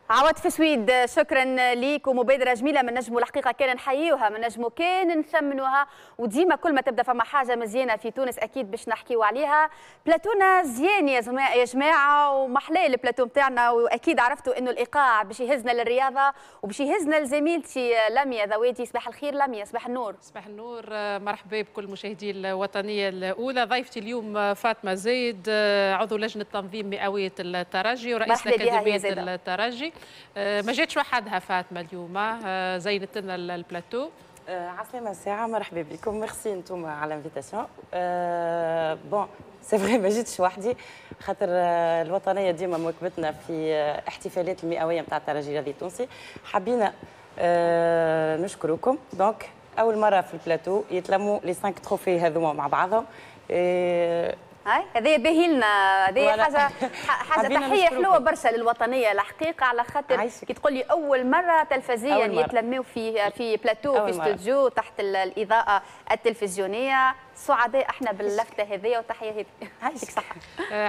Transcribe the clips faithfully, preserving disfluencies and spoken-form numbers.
عواد سويد، شكرا ليك، ومبادرة جميلة من نجموا الحقيقة كان نحييوها، من نجموا كان نثمنوها، وديما كل ما تبدا فما حاجة مزيانه في تونس اكيد باش نحكيو عليها. بلاتونا زيان يا يا جماعه، ومحلاه البلاتو نتاعنا، واكيد عرفتوا انه الايقاع باش يهزنا للرياضة وباش يهزنا لزميلتي لميا ذوادي. صباح الخير لميا. صباح النور. صباح النور، مرحبا بكل مشاهدي الوطنية الاولى. ضيفتي اليوم فاطمة زايد، عضو لجنة تنظيم مئوية الترجي ورئيس اكاديمية الترجي. ما جاتش وحدها فاطمة اليوم، زينت لنا البلاتو. عسلامة ساعة، مرحبا بكم، ميرسي انتم على l'invitation. bon، c'est vrai ما جيتش وحدي، خاطر الوطنية ديما مواكبتنا في احتفالات المئوية نتاع الترجي الرياضي التونسي. حبينا نشكركم، donc اول مرة في البلاتو يتلموا les cinq trophées هذوما مع بعضهم. هاي هذه باهي لنا، هذه حاجة حاجة تحية حلوة برشا للوطنيه الحقيقه، على خاطر كي تقول لي اول مرة تلفزيا يتلموا في في بلاتو، في استوديو، تحت الاضاءة التلفزيونيه. سعداء احنا باللفته هذه وتحية هذه. يعطيك صحه.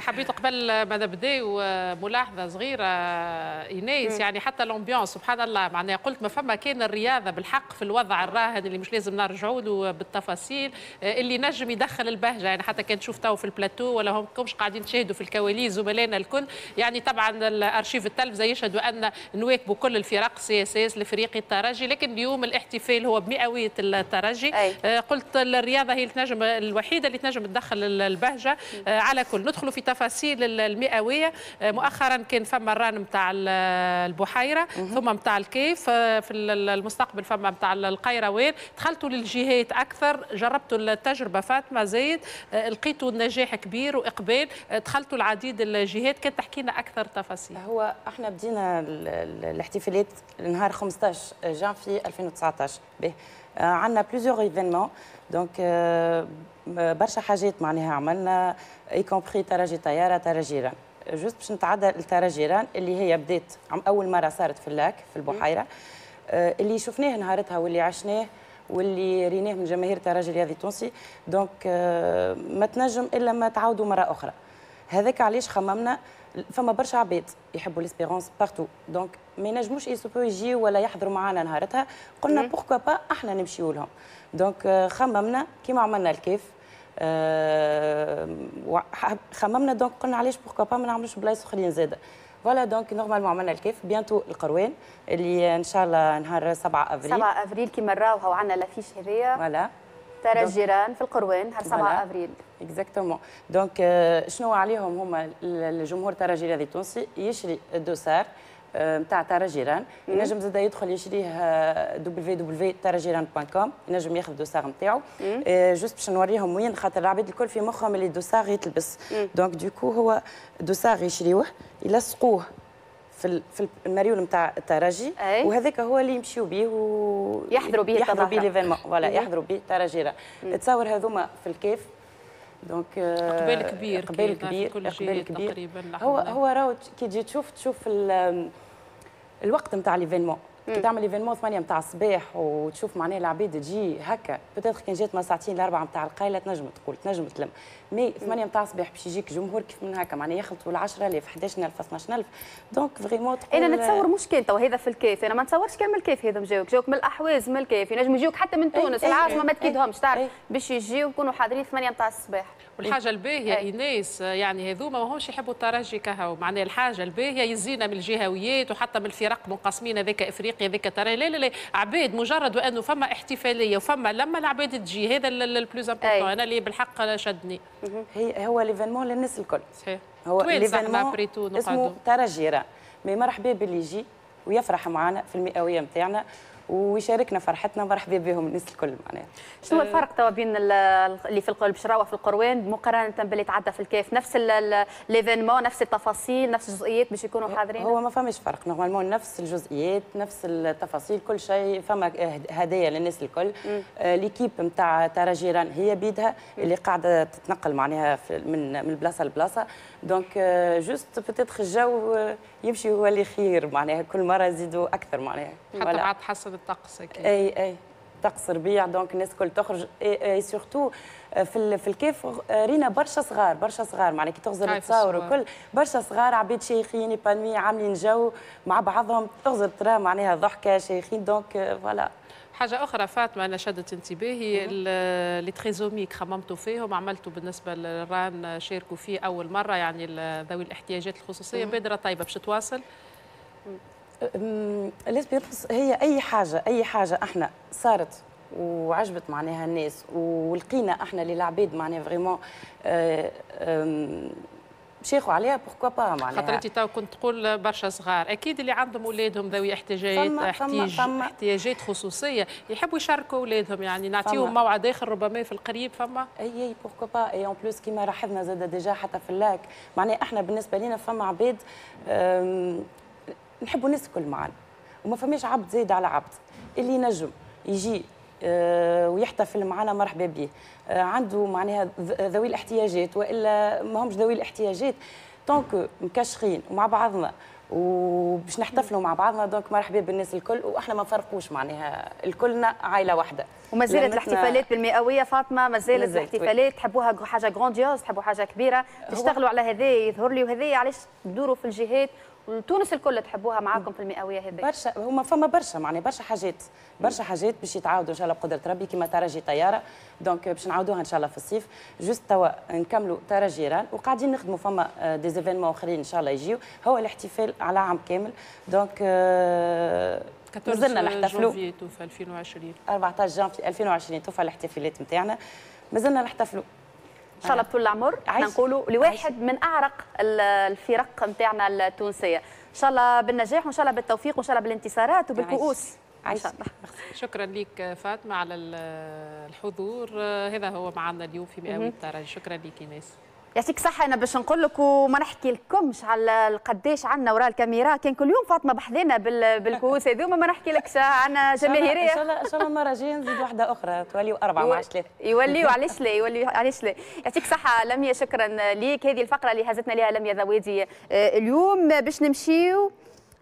حبيت قبل ما نبداو ملاحظة صغيرة ايناس، يعني حتى l'ambiance سبحان الله، معناها قلت ما فما كان الرياضة بالحق في الوضع الراهن اللي مش لازم نرجعوا له بالتفاصيل، اللي نجم يدخل البهجه، يعني حتى كان تشوف تو في البلاتو ولا هم كمش قاعدين تشاهدوا في الكواليس زملائنا الكل، يعني طبعا الارشيف التلفزة يشهدوا ان نواكبوا كل الفرق، CSS، الافريقي، الترجي، لكن اليوم الاحتفال هو بمئويه الترجي. أي. قلت الرياضة هي تنجم الوحيدة اللي تنجم تدخل البهجه. على كل ندخلوا في تفاصيل المئويه. مؤخرا كان فما ال run نتاع البحيره، ثم نتاع الكاف، في المستقبل فما نتاع القيروان. دخلتوا للجهات اكثر، جربتوا التجربة فاطمة زايد، لقيتوا النجاح كبير واقبال، دخلتوا العديد الجهات، كان تحكي لنا اكثر تفاصيل. هو احنا بدينا الاحتفالات نهار خمسطاش جانفي ألفين وتسعطاش به، عندنا plusieurs événements، donc برشا حاجات معناها عملنا، y compris ترجي طياره، ترجي run. juste باش نتعدى الترجي run اللي هي بدات اول مرة صارت في ال lac في البحيره، اللي شفناه نهارتها واللي عشناه واللي ريناه من جماهير الترجي الرياضي التونسي، donc ما تنجم الا ما تعاودوا مرة اخرى. هذاك علاش خممنا، فما برشا عباد يحبوا l'Espérance partout، donc ما ينجموش يسوبو يجيو ولا يحضروا معنا نهارتها. قلنا pourquoi pas احنا نمشيو لهم. donc خممنا كيما عملنا الكاف، أه خممنا donc قلنا علاش pourquoi pas ما نعملوش بلايص اخرين زاده. voilà، donc normalement عملنا الكاف، bientôt القروان اللي ان شاء الله نهار سبعة افريل. سبعة افريل كيما نراوها وعندنا l'affiche هذيا. voilà. ترجي run في القروان نهار سبعة افريل. exactement. donc شنو عليهم هما؟ الجمهور الترجي الرياضي التونسي يشري ال dossard نتاع ترجي run، ينجم زاد يدخل يشريه دبليو دبليو دبليو ترجي run point com، ينجم ياخذ dossard نتاعو. juste باش نوريهم وين، خاطر العباد الكل في مخهم اللي dossard يتلبس. donc du coup هو dossard يشريوه، يلصقوه في في المريول نتاع الترجي، وهذاك هو اللي يمشيو به و يحضروا به. يحضروا به l'événement، voilà، يحضروا به ترجي run. تصور هذوما في الكاف، donc اقبال كبير. اقبال كبير، اقبال كبير تقريبا. هو هو راهو كي تجي تشوف تشوف الوقت نتاع l'événement، كي تعمل l'événement ثمانية نتاع الصباح وتشوف معناها العباد تجي هكا، peut-être كان جات ما ساعتين الاربعة نتاع القايله تنجم تقول تنجم تلم، mais ثمانية نتاع الصباح باش يجيك جمهور كيف من هكا، معناها يخلطوا ل عشرة آلاف، حداش ألف، اثناش ألف، donc vraiment تقول انا نتصور مش كان تو هذا في الكاف، انا ما نتصورش كان من الكاف هذا جاوك جاوك من الاحواز، من الكاف، ينجم يجيوك حتى من تونس العاصمه، ما تكيدهمش تعرف باش يجيو يكونوا حاضرين ثمانية نتاع الصباح. والحاجة الباهيه ايناس، يعني هذوما ماهمش يحبوا الترجي كهو، معناها الحاجة الباهيه يزينا من الجهويات وحتى من الفرق منقسمين، هذاك افريقيا هذاك ترى، لا لا لا، عباد مجرد وانه فما احتفالية وفما لما العباد تجي، هذا ال plus important، انا اللي بالحق شدني. هي هو l'événement للناس الكل. صحيح. هو l'événement اسمه ترجي run، mais مرحبا باللي يجي ويفرح معنا في المئويه نتاعنا ويشاركنا فرحتنا، مرحبا بهم الناس الكل معناها. شنو الفرق توا بين اللي في باش في القروان مقارنة باللي تعدى في الكاف؟ نفس l'événement، نفس التفاصيل، نفس الجزئيات باش يكونوا حاضرين؟ هو ما فماش فرق، normalement نفس الجزئيات، نفس التفاصيل، كل شيء. فما هدايا للناس الكل. آه l'équipe نتاع ترجي run هي بيدها اللي قاعدة تتنقل معناها من من بلاصة لبلاصه، donc juste peut-être الجو يمشي هو اللي خير، معناها كل مرة يزيدوا اكثر معناها. حتى بعد تحسن الطقس. اكيد. اي اي. طقس ربيع، donc الناس الكل تخرج. et surtout في في الكاف رينا برشا صغار، برشا صغار معناها كي تغزر تصاور وكل، برشا صغار عباد شيخين épanouis عاملين جو مع بعضهم، تغزر ترى معناها ضحكه شيخين، donc voilà. حاجة أخرى فاطمة أنا شدت انتباهي، les trisomiques خممتوا فيهم، عملتوا بالنسبة لل RAN شاركوا فيه أول مرة، يعني ذوي الاحتياجات الخصوصية، بادرة طيبة باش تواصل. l'Espérance هي أي حاجة، أي حاجة احنا صارت وعجبت معناها الناس ولقينا احنا اللي العباد معناها vraiment شيخوا عليها، pourquoi pas معناها. خاطر انت تو كنت تقول برشا صغار، اكيد اللي عندهم اولادهم ذوي احتياجات احتياج احتياجات خصوصية يحبوا يشاركوا اولادهم، يعني نعطيهم موعد اخر ربما في القريب. فما اي اي pourquoi pas، et en plus كيما لاحظنا زاد déjà حتى في ال lac، معناها احنا بالنسبة لنا فما عباد نحبوا الناس الكل معنا وما فماش عبد زايد على عبد، اللي ينجم يجي ويحتفل معنا مرحبا به، عنده معناها ذوي الاحتياجات والا ما همش ذوي الاحتياجات، tant que مكشخين ومع بعضنا وباش نحتفلوا مع بعضنا، donc مرحبا بالناس الكل، واحنا ما نفرقوش معناها الكلنا عائلة واحدة. وما زالت الاحتفالات بالمئويه فاطمة، ما زالت الاحتفالات، تحبوها حاجة grandiose، تحبوا حاجة كبيرة، تشتغلوا على هذا يظهر لي، وهذا علاش تدوروا في الجهات تونس الكل تحبوها معاكم في المئويه هذه. برشا هما فما برشا معناها برشا حاجات، برشا حاجات باش يتعاودوا ان شاء الله بقدره ربي، كيما ترجي طيارة، donc باش نعاودوها ان شاء الله في الصيف، juste توا نكملوا ترجي RAN وقاعدين نخدموا فما des événements اخرين ان شاء الله يجيو، هو الاحتفال على عام كامل، donc مازلنا نحتفلوا في ألفين وعشرين، أربعة عشر جانفي ألفين وعشرين توفى الاحتفالات نتاعنا، مازلنا نحتفلوا ان شاء الله بطول العمر. احنا نقولوا لواحد من اعرق الفرق نتاعنا التونسية، ان شاء الله بالنجاح وان شاء الله بالتوفيق وان شاء الله بالانتصارات وبالكؤوس ان شاء الله. شكرا لك فاطمة على الحضور، هذا هو معنا اليوم في مئوية الترجي. شكرا لك ايناس. يعطيك صحة. أنا باش نقول لك وما نحكي لكمش على قداش عندنا وراء الكاميرا، كان كل يوم فاطمة بحذانا بالكؤوس هذوما، ما نحكي لكش عندنا جماهيرية. إن شاء الله إن شاء الله المرة الجاية نزيد واحدة أخرى توليو أربعة ما عادش ثلاثة. يوليو علاش لا، يوليو علاش لا. يعطيك صحة لميا، شكرا ليك. هذه الفقرة اللي هزتنا لها لميا ذوادي اليوم. باش نمشيو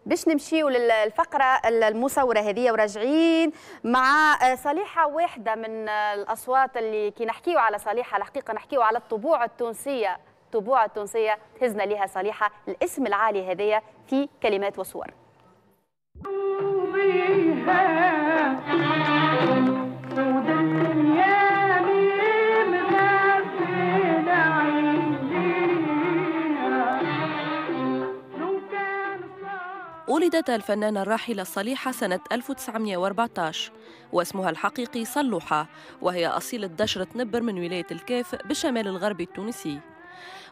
باش نمشيو للفقرة المصورة هذه وراجعين مع صليحة، واحدة من الأصوات اللي كي نحكيو على صليحة الحقيقة نحكيو على الطبوع التونسية، الطبوع التونسية تهزنا لها صليحة، الاسم العالي هذايا في كلمات وصور. ولدت الفنانة الراحلة صليحة سنة ألف وتسعمائة وأربعة عشر واسمها الحقيقي صلوحة، وهي أصيلة دشرة نبر من ولاية الكاف بالشمال الغربي التونسي.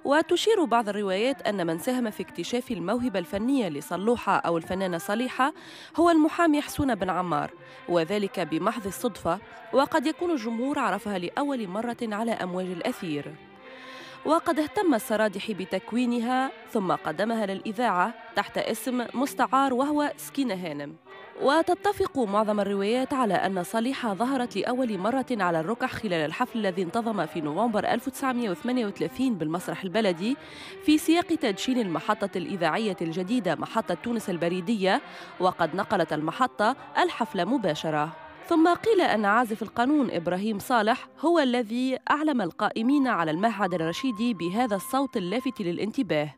وتشير بعض الروايات أن من ساهم في اكتشاف الموهبة الفنية لصلوحة أو الفنانة صليحة هو المحامي حسون بن عمار، وذلك بمحض الصدفة، وقد يكون الجمهور عرفها لأول مرة على أمواج الأثير. وقد اهتم السرادحي بتكوينها ثم قدمها للإذاعة تحت اسم مستعار وهو سكينة هانم. وتتفق معظم الروايات على أن صليحة ظهرت لأول مرة على الركح خلال الحفل الذي انتظم في نوفمبر ألف وتسعمائة وثمانية وثلاثين بالمسرح البلدي في سياق تدشين المحطة الإذاعية الجديدة محطة تونس البريدية، وقد نقلت المحطة الحفل مباشرة. ثم قيل أن عازف القانون إبراهيم صالح هو الذي أعلم القائمين على المعهد الرشيدي بهذا الصوت اللافت للانتباه،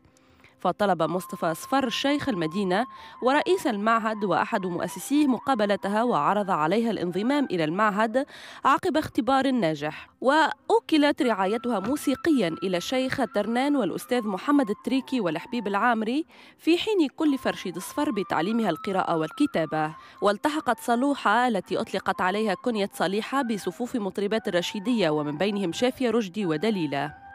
فطلب مصطفى صفر شيخ المدينة ورئيس المعهد وأحد مؤسسيه مقابلتها وعرض عليها الانضمام إلى المعهد عقب اختبار ناجح. وأوكلت رعايتها موسيقيا إلى الشيخ ترنان والأستاذ محمد التريكي والحبيب العامري، في حين كلف رشيد صفر بتعليمها القراءة والكتابة. والتحقت صلوحة التي أطلقت عليها كنية صليحة بصفوف مطربات الرشيدية ومن بينهم شافية رشدي ودليلة.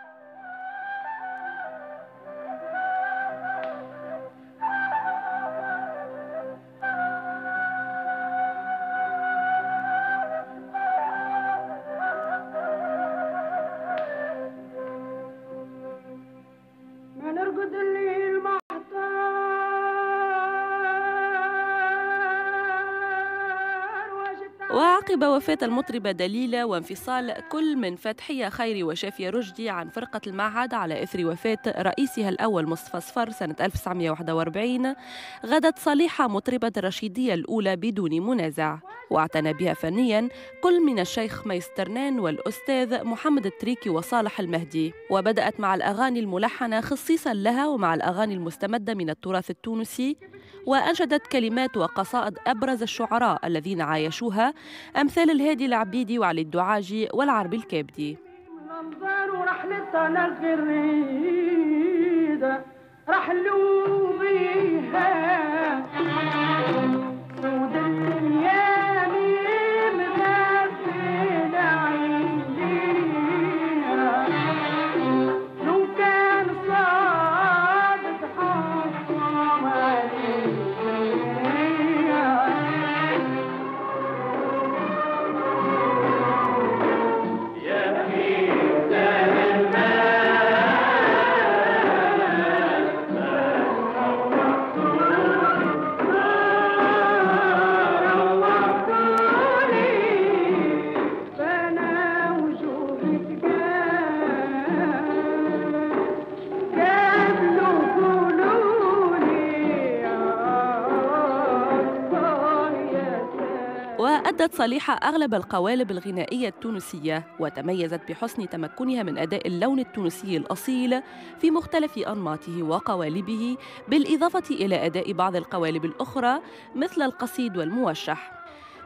وعقب وفاة المطربة دليلة وانفصال كل من فتحية خيري وشافية رشدي عن فرقة المعهد على إثر وفاة رئيسها الأول مصطفى صفر سنة ألف وتسعمائة وواحد وأربعين، غدت صليحة مطربة الرشيدية الأولى بدون منازع. واعتنى بها فنياً كل من الشيخ ميسترنان والأستاذ محمد التريكي وصالح المهدي. وبدأت مع الأغاني الملحنة خصيصاً لها ومع الأغاني المستمدة من التراث التونسي، وأنشدت كلمات وقصائد أبرز الشعراء الذين عايشوها أمثال الهادي العبيدي وعلي الدعاجي والعربي الكابدي. رحلوا بيها سود الدنيا مغفل عينيها، لو كان صادق حكم عليها. يا وأدت صليحة أغلب القوالب الغنائية التونسية، وتميزت بحسن تمكنها من أداء اللون التونسي الأصيل في مختلف أنماطه وقوالبه، بالإضافة إلى أداء بعض القوالب الأخرى مثل القصيد والموشح.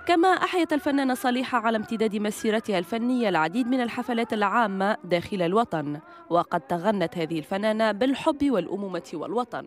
كما أحيت الفنانة صليحة على امتداد مسيرتها الفنية العديد من الحفلات العامة داخل الوطن، وقد تغنت هذه الفنانة بالحب والأمومة والوطن.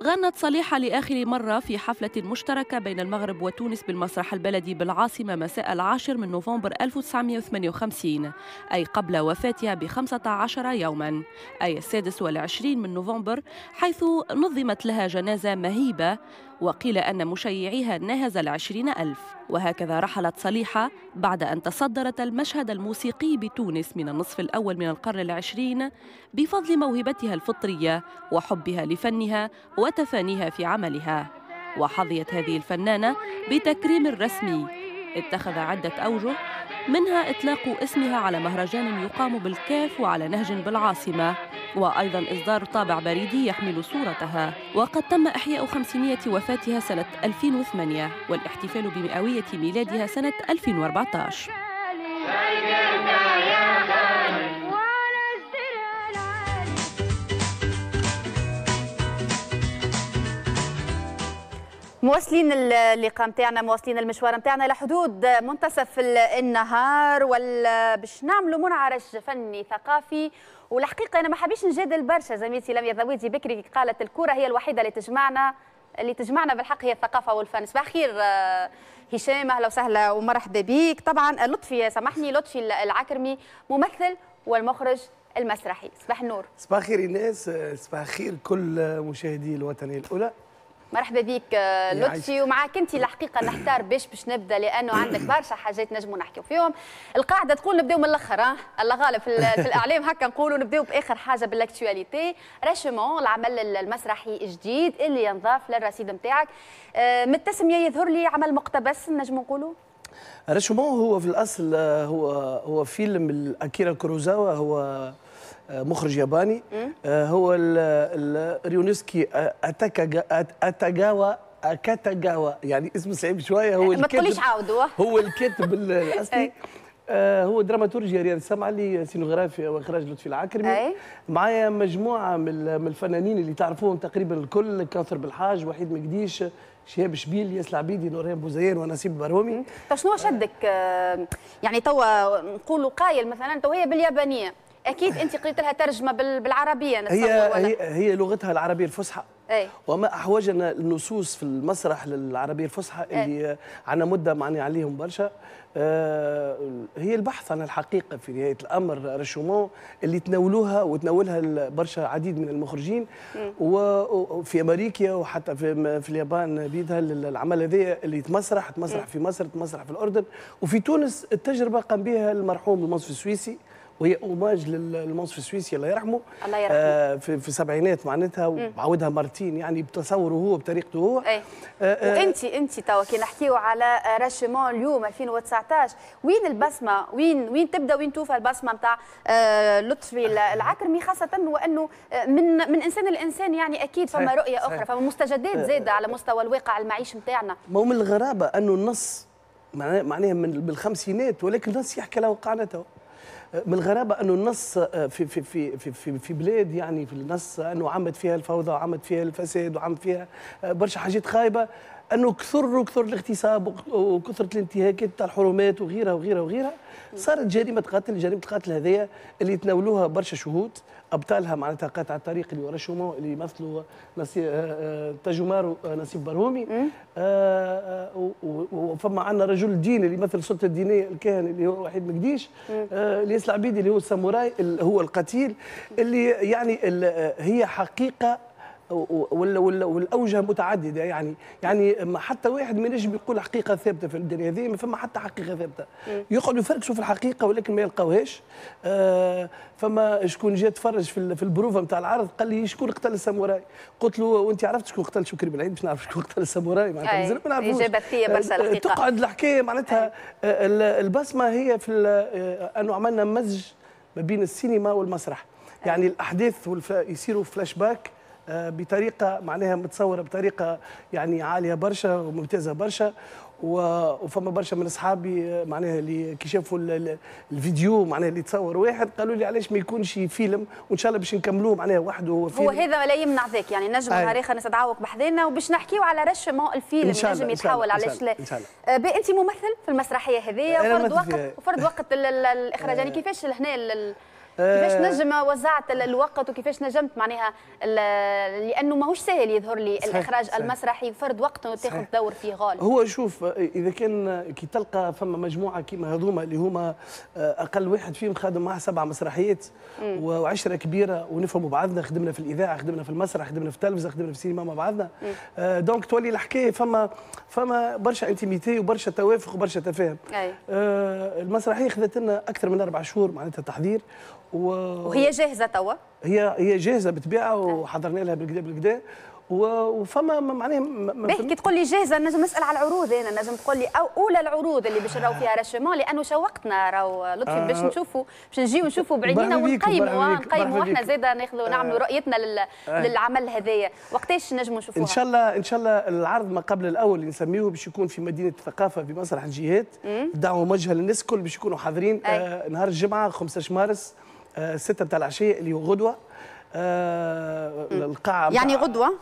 غنت صليحة لآخر مرة في حفلة مشتركة بين المغرب وتونس بالمسرح البلدي بالعاصمة مساء العاشر من نوفمبر ألف وتسعمائة وثمانية وخمسين، أي قبل وفاتها بخمسة عشر يوما، أي السادس والعشرين من نوفمبر، حيث نظمت لها جنازة مهيبة وقيل أن مشيعيها ناهز العشرين ألف. وهكذا رحلت صليحة بعد أن تصدرت المشهد الموسيقي بتونس من النصف الأول من القرن العشرين بفضل موهبتها الفطرية وحبها لفنها وتفانيها في عملها. وحظيت هذه الفنانة بتكريم رسمي اتخذ عدة أوجه، منها إطلاق اسمها على مهرجان يقام بالكاف وعلى نهج بالعاصمة، وأيضا إصدار طابع بريدي يحمل صورتها. وقد تم إحياء خمسينية وفاتها سنة ألفين وثمانية والاحتفال بمئوية ميلادها سنة ألفين وأربعة عشر. مواصلين اللقاء نتاعنا، مواصلين المشوار نتاعنا لحدود منتصف النهار، باش نعملوا منعرج فني ثقافي. والحقيقة انا ما حبيش نجادل برشا زميلتي لميا ذويدي بكري قالت الكره هي الوحيدة اللي تجمعنا، اللي تجمعنا بالحق هي الثقافة والفن. صباح الخير هشام، اهلا وسهلا ومرحبا بك. طبعا لطفي، سامحني، لطفي العكرمي ممثل والمخرج المسرحي. صباح النور. صباح الخير ايناس، صباح الخير كل مشاهدي الوطنية الاولى. مرحبا بك لطفي، ومعاك انت الحقيقة نحتار باش باش نبدا، لانه عندك برشا حاجات نجموا نحكيو فيهم. القاعدة تقول نبداو من الاخر، ها الله غالب في, في الاعلام هكا نقولوا نبداو باخر حاجة بال actualité. راشمون العمل المسرحي الجديد اللي ينضاف للرصيد نتاعك، من التسمية يظهر لي عمل مقتبس نجموا نقولوا. راشمون هو في الاصل هو هو فيلم اكيرا كوروزاوا، هو مخرج ياباني، هو ريونسكي أتاكاوا أكاتاغاوا، يعني اسمه صعيب شوية. هو ما تقوليش عاودوا، هو الكاتب الاصلي. هو دراماتورجيا رياض السمعلي، سينوغرافيا واخراج لطفي العكرمي. معايا مجموعة من الفنانين اللي تعرفوهم تقريبا الكل، كوثر بالحاج، وحيد مقديش، شهاب شبيل، ياس العبيدي، نورهان بوزيان، ونسيب برومي. طيب شنو شدك يعني توا نقولوا قايل مثلا تو هي باليابانيه، اكيد انت قريت لها ترجمه بالعربية نتصور؟ هي ولا؟ هي هي لغتها العربية الفصحى. أي. وما احوجنا النصوص في المسرح للعربية الفصحى اللي عندنا مده معني عليهم برشا. آه هي البحث عن الحقيقة في نهاية الامر، رشومون اللي تناولوها وتناولها برشا عديد من المخرجين وفي امريكا وحتى في في اليابان بيدها. العمل هذا اللي تمسرح تمسرح في مصر، تمسرح في الاردن، وفي تونس التجربة قام بها المرحوم المنصف السويسي، وهي hommage للمنصف السويسي الله يرحمه، الله يرحمه، آه في, في السبعينات معناتها، وعاودها مرتين يعني بتصوره هو بطريقته هو. أي. آه وانت انت توا كي نحكيو على راشمون اليوم ألفين وتسعطاش، وين البصمة؟ وين وين تبدا وين توفى البصمة نتاع آه لطفي العكرمي، خاصة وانه من من انسان لانسان يعني اكيد فما رؤية اخرى، فما مستجدات زاده على مستوى الواقع المعيش نتاعنا. ما هو من الغرابة انه النص معناها من بالخمسينات، ولكن النص يحكي على وقعنا تو. من الغرابة انه النص في في في في في بلاد يعني في النص انه عمت فيها الفوضى وعمت فيها الفساد وعمت فيها برشا حاجات خايبة، انه كثر وكثر الاغتصاب وكثرة الانتهاكات تاع الحرمات وغيرها وغيرها وغيرها، صارت جريمة قتل. جريمة القتل هذيا اللي تناولوها برشا شهود، ابطالها معناتها قاطع الطريق اللي ورشومو اللي يمثلوا نصيب تاجومارو نصيب برهومي، وفما عندنا رجل الدين اللي يمثل السلطة الدينية الكاهن اللي هو وحيد مقديش، الياس العبيدي اللي هو الساموراي اللي هو القتيل، اللي يعني هي حقيقة والاوجه متعددة. يعني يعني حتى واحد ما ينجم يقول حقيقة ثابتة في الدنيا هذه، ما فما حتى حقيقة ثابتة. يقعدوا يفركشوا في الحقيقة ولكن ما يلقاوهاش. آه فما شكون جا تفرج في في البروفه نتاع العرض قال لي شكون قتل الساموراي؟ قلت له وانت عرفت شكون قتل شكري بالعيد باش نعرف شكون قتل الساموراي؟ معناتها مازال ما نعرفوش. اجابه ذكية برشا الحقيقة. تقعد الحكاية معناتها البصمة هي في انه عملنا مزج ما بين السينما والمسرح. يعني الاحداث يصيروا فلاش باك بطريقة معناها متصورة بطريقة يعني عالية برشا وممتازة برشا. وفما برشا من اصحابي معناها اللي كي شافوا الفيديو معناها اللي تصور واحد قالوا لي علاش ما يكونش فيلم، وان شاء الله باش نكملوه معناها وحده هو فيلم. هو هذا لا يمنع ذاك، يعني نجم نهار اخر نستدعوك بحذانا وباش نحكيو على رشمون الفيلم نجم يتحول علاش لا. انت ممثل في المسرحية هذه وفرد وقت وفرد وقت الاخراج، يعني كيفاش لهنا كيفاش نجم وزعت الوقت وكيفاش نجمت معناها، لانه ماهوش سهل يظهر لي الاخراج صحيح. المسرحي فرد وقت وتاخذ دور فيه غالي. هو شوف اذا كان كي تلقى فما مجموعة كيما هذوما اللي هما اقل واحد فيهم خادم معاه سبع مسرحيات وعشرة كبيرة ونفهموا بعضنا، خدمنا في الاذاعة، خدمنا في المسرح، خدمنا في التلفزة، خدمنا في السينما مع بعضنا، donc تولي الحكاية فما فما برشا intimité وبرشا توافق وبرشا تفاهم. آه المسرحية خذت لنا اكثر من اربع شهور معناتها تحضير و... وهي جاهزة توا؟ هي هي جاهزة بالطبيعة وحضرنا لها بالكدا بالكدا وفما معناها. باهي كي تقول لي جاهزة نجم نسال على العروض، انا نجم تقول لي او اولى العروض اللي باش نراو فيها راشمون، لانه شوقتنا راهو لطفي آه باش نشوفوا باش نجيو نشوفوا بعينينا ونقيموا نقيموا احنا زاده ناخذوا نعملوا رؤيتنا لل... آه للعمل هذايا، وقتاش نجموا نشوفوها؟ ان شاء الله ان شاء الله العرض ما قبل الاول اللي نسميه باش يكون في مدينة الثقافة في مسرح الجهات، دعوه موجهة للناس الكل باش يكونوا حاضرين آه نهار الجمعة خمسطاش مارس آه ستة نتاع العشية اللي هو غدوه. آه القاعة يعني غدوه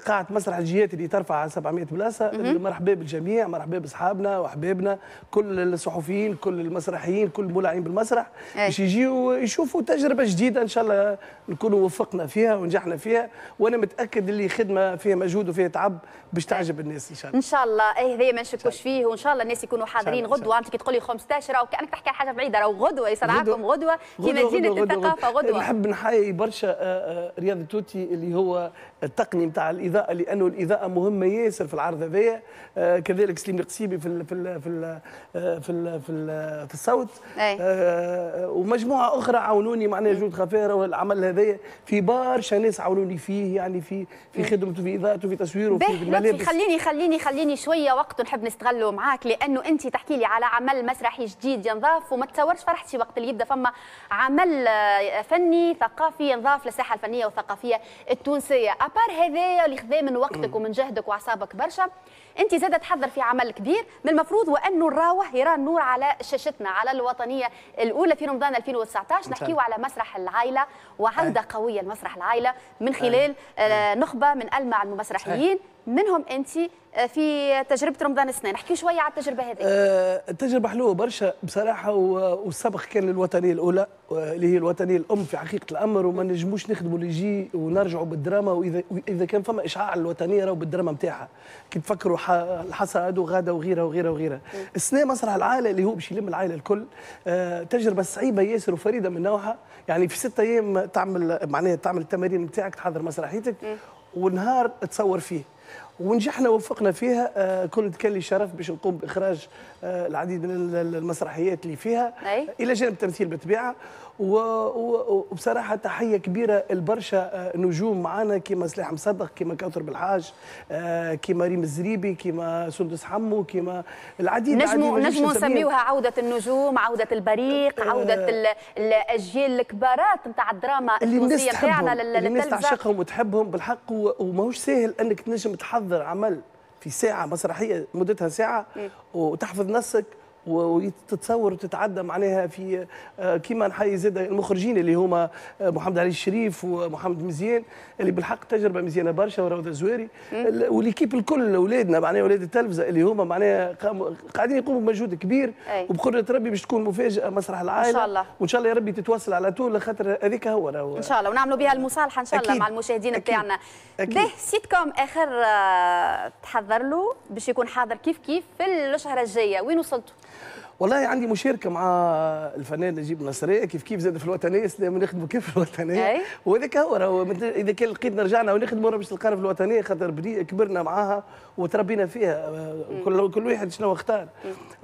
قاعة مسرح الجهات اللي ترفع سبعمية بلاصة. مرحبا بالجميع، مرحبا باصحابنا واحبابنا، كل الصحفيين، كل المسرحيين، كل المولعين بالمسرح باش يجيو يشوفوا تجربه جديدة ان شاء الله نكونوا وفقنا فيها ونجحنا فيها، وانا متاكد اللي خدمة فيها مجهود وفيها تعب باش تعجب الناس ان شاء الله. ان شاء الله اي هذايا ما نشكوش فيه، وان شاء الله الناس يكونوا حاضرين غدوه. انت كي تقولي خمسطاش راهو كانك تحكي على حاجة بعيدة، راهو غدوه يصنعكم غدوه في مدينة الثقافة غدوه. نحب نحيي برشا رياض التوتي اللي هو التقني نتاع الاضاءة، لانه الاضاءة مهمة ياسر في العرض هذايا. آه كذلك سليم القصيبي في ال في ال في ال في ال في, ال في الصوت، آه ومجموعة اخرى عاونوني معناها جود خفاره والعمل هذايا في برشا ناس عاونوني فيه، يعني في في خدمته في اضاءته في تصويره في الملابس. خليني خليني خليني شوية وقت نحب نستغله معاك، لانه انت تحكي لي على عمل مسرحي جديد ينضاف، وما تصورش فرحتي وقت اللي يبدا فما عمل فني ثقافي ينضاف للساحه الفنية والثقافية التونسية. à part هذايا اللي خذا من وقتك ومن جهدك واعصابك برشا، انت زاده تحضر في عمل كبير من المفروض وانه نراوه يرى النور على شاشتنا على الوطنية الاولى في رمضان ألفين وتسعطاش. نحكيو على مسرح العائلة وعوده قوية لمسرح العائلة من خلال نخبة من المع المسرحيين منهم انت في تجربه رمضان السنة. نحكي شوية على التجربة هذه. أه التجربة حلوة برشا بصراحة، والسبق كان للوطنيه الاولى اللي هي الوطنية الام في حقيقة الامر، وما نجموش نخدموا اللي يجي ونرجعوا بالدراما، واذا اذا كان فما اشعاع الوطنية راهو بالدراما نتاعها، كي تفكروا الحصاد وغاده وغيرها وغيرها وغيرها. السنة مسرح العائلة اللي هو باش يلم العائلة الكل، أه تجربه صعيبة ياسر وفريدة من نوعها، يعني في ستة ايام تعمل معناها تعمل التمارين نتاعك، تحضر مسرحيتك ونهار تصور فيه، ونجحنا ووفقنا فيها. آه كنت كان لي شرف باش نقوم باخراج آه العديد من المسرحيات اللي فيها. أي. الى جانب التمثيل بالطبيعة، وبصراحة تحية كبيرة لبرشا نجوم معانا كيما سلاح مصدق، كيما كوثر بالحاج، آه كيما ريم الزريبي، كيما سندس حمو، كيما العديد. نجمو نجمو نسميوها عوده النجوم، عوده البريق، آه عوده الاجيال الكبارات نتاع الدراما التونسية نتاعنا، اللي الناس تعشقهم وتحبهم بالحق. وماهوش ساهل انك تنجم تحضر عمل في ساعة مسرحية مدتها ساعة وتحفظ نصك وتتصور وتتعدى معناها في كيما نحيي زاد المخرجين اللي هما محمد علي الشريف ومحمد مزيان اللي بالحق تجربه مزيانه برشا، وروضه الزواري و l'équipe الكل، اولادنا معناها اولاد التلفزة اللي هما معناها قاعدين يقوموا بمجهود كبير، وبقدره ربي باش تكون مفاجاة مسرح العائلة ان شاء الله، وان شاء الله يا ربي تتواصل على طول خاطر هذيك هو ان شاء الله، ونعملوا بها المصالحة ان شاء الله مع المشاهدين نتاعنا. به سيت كوم اخر تحضر له باش يكون حاضر كيف كيف في الشهر الجاية، وين وصلتوا؟ والله عندي مشاركة مع الفنان نجيب النصريه كيف كيف زاد في الوطنية، نخدموا كيف في الوطنية، وهذاك هو راهو اذا كان لقيتنا رجعنا ونخدموا راه باش تلقانا في الوطنية، خاطر كبرنا معاها وتربينا فيها، كل كل واحد شنو اختار.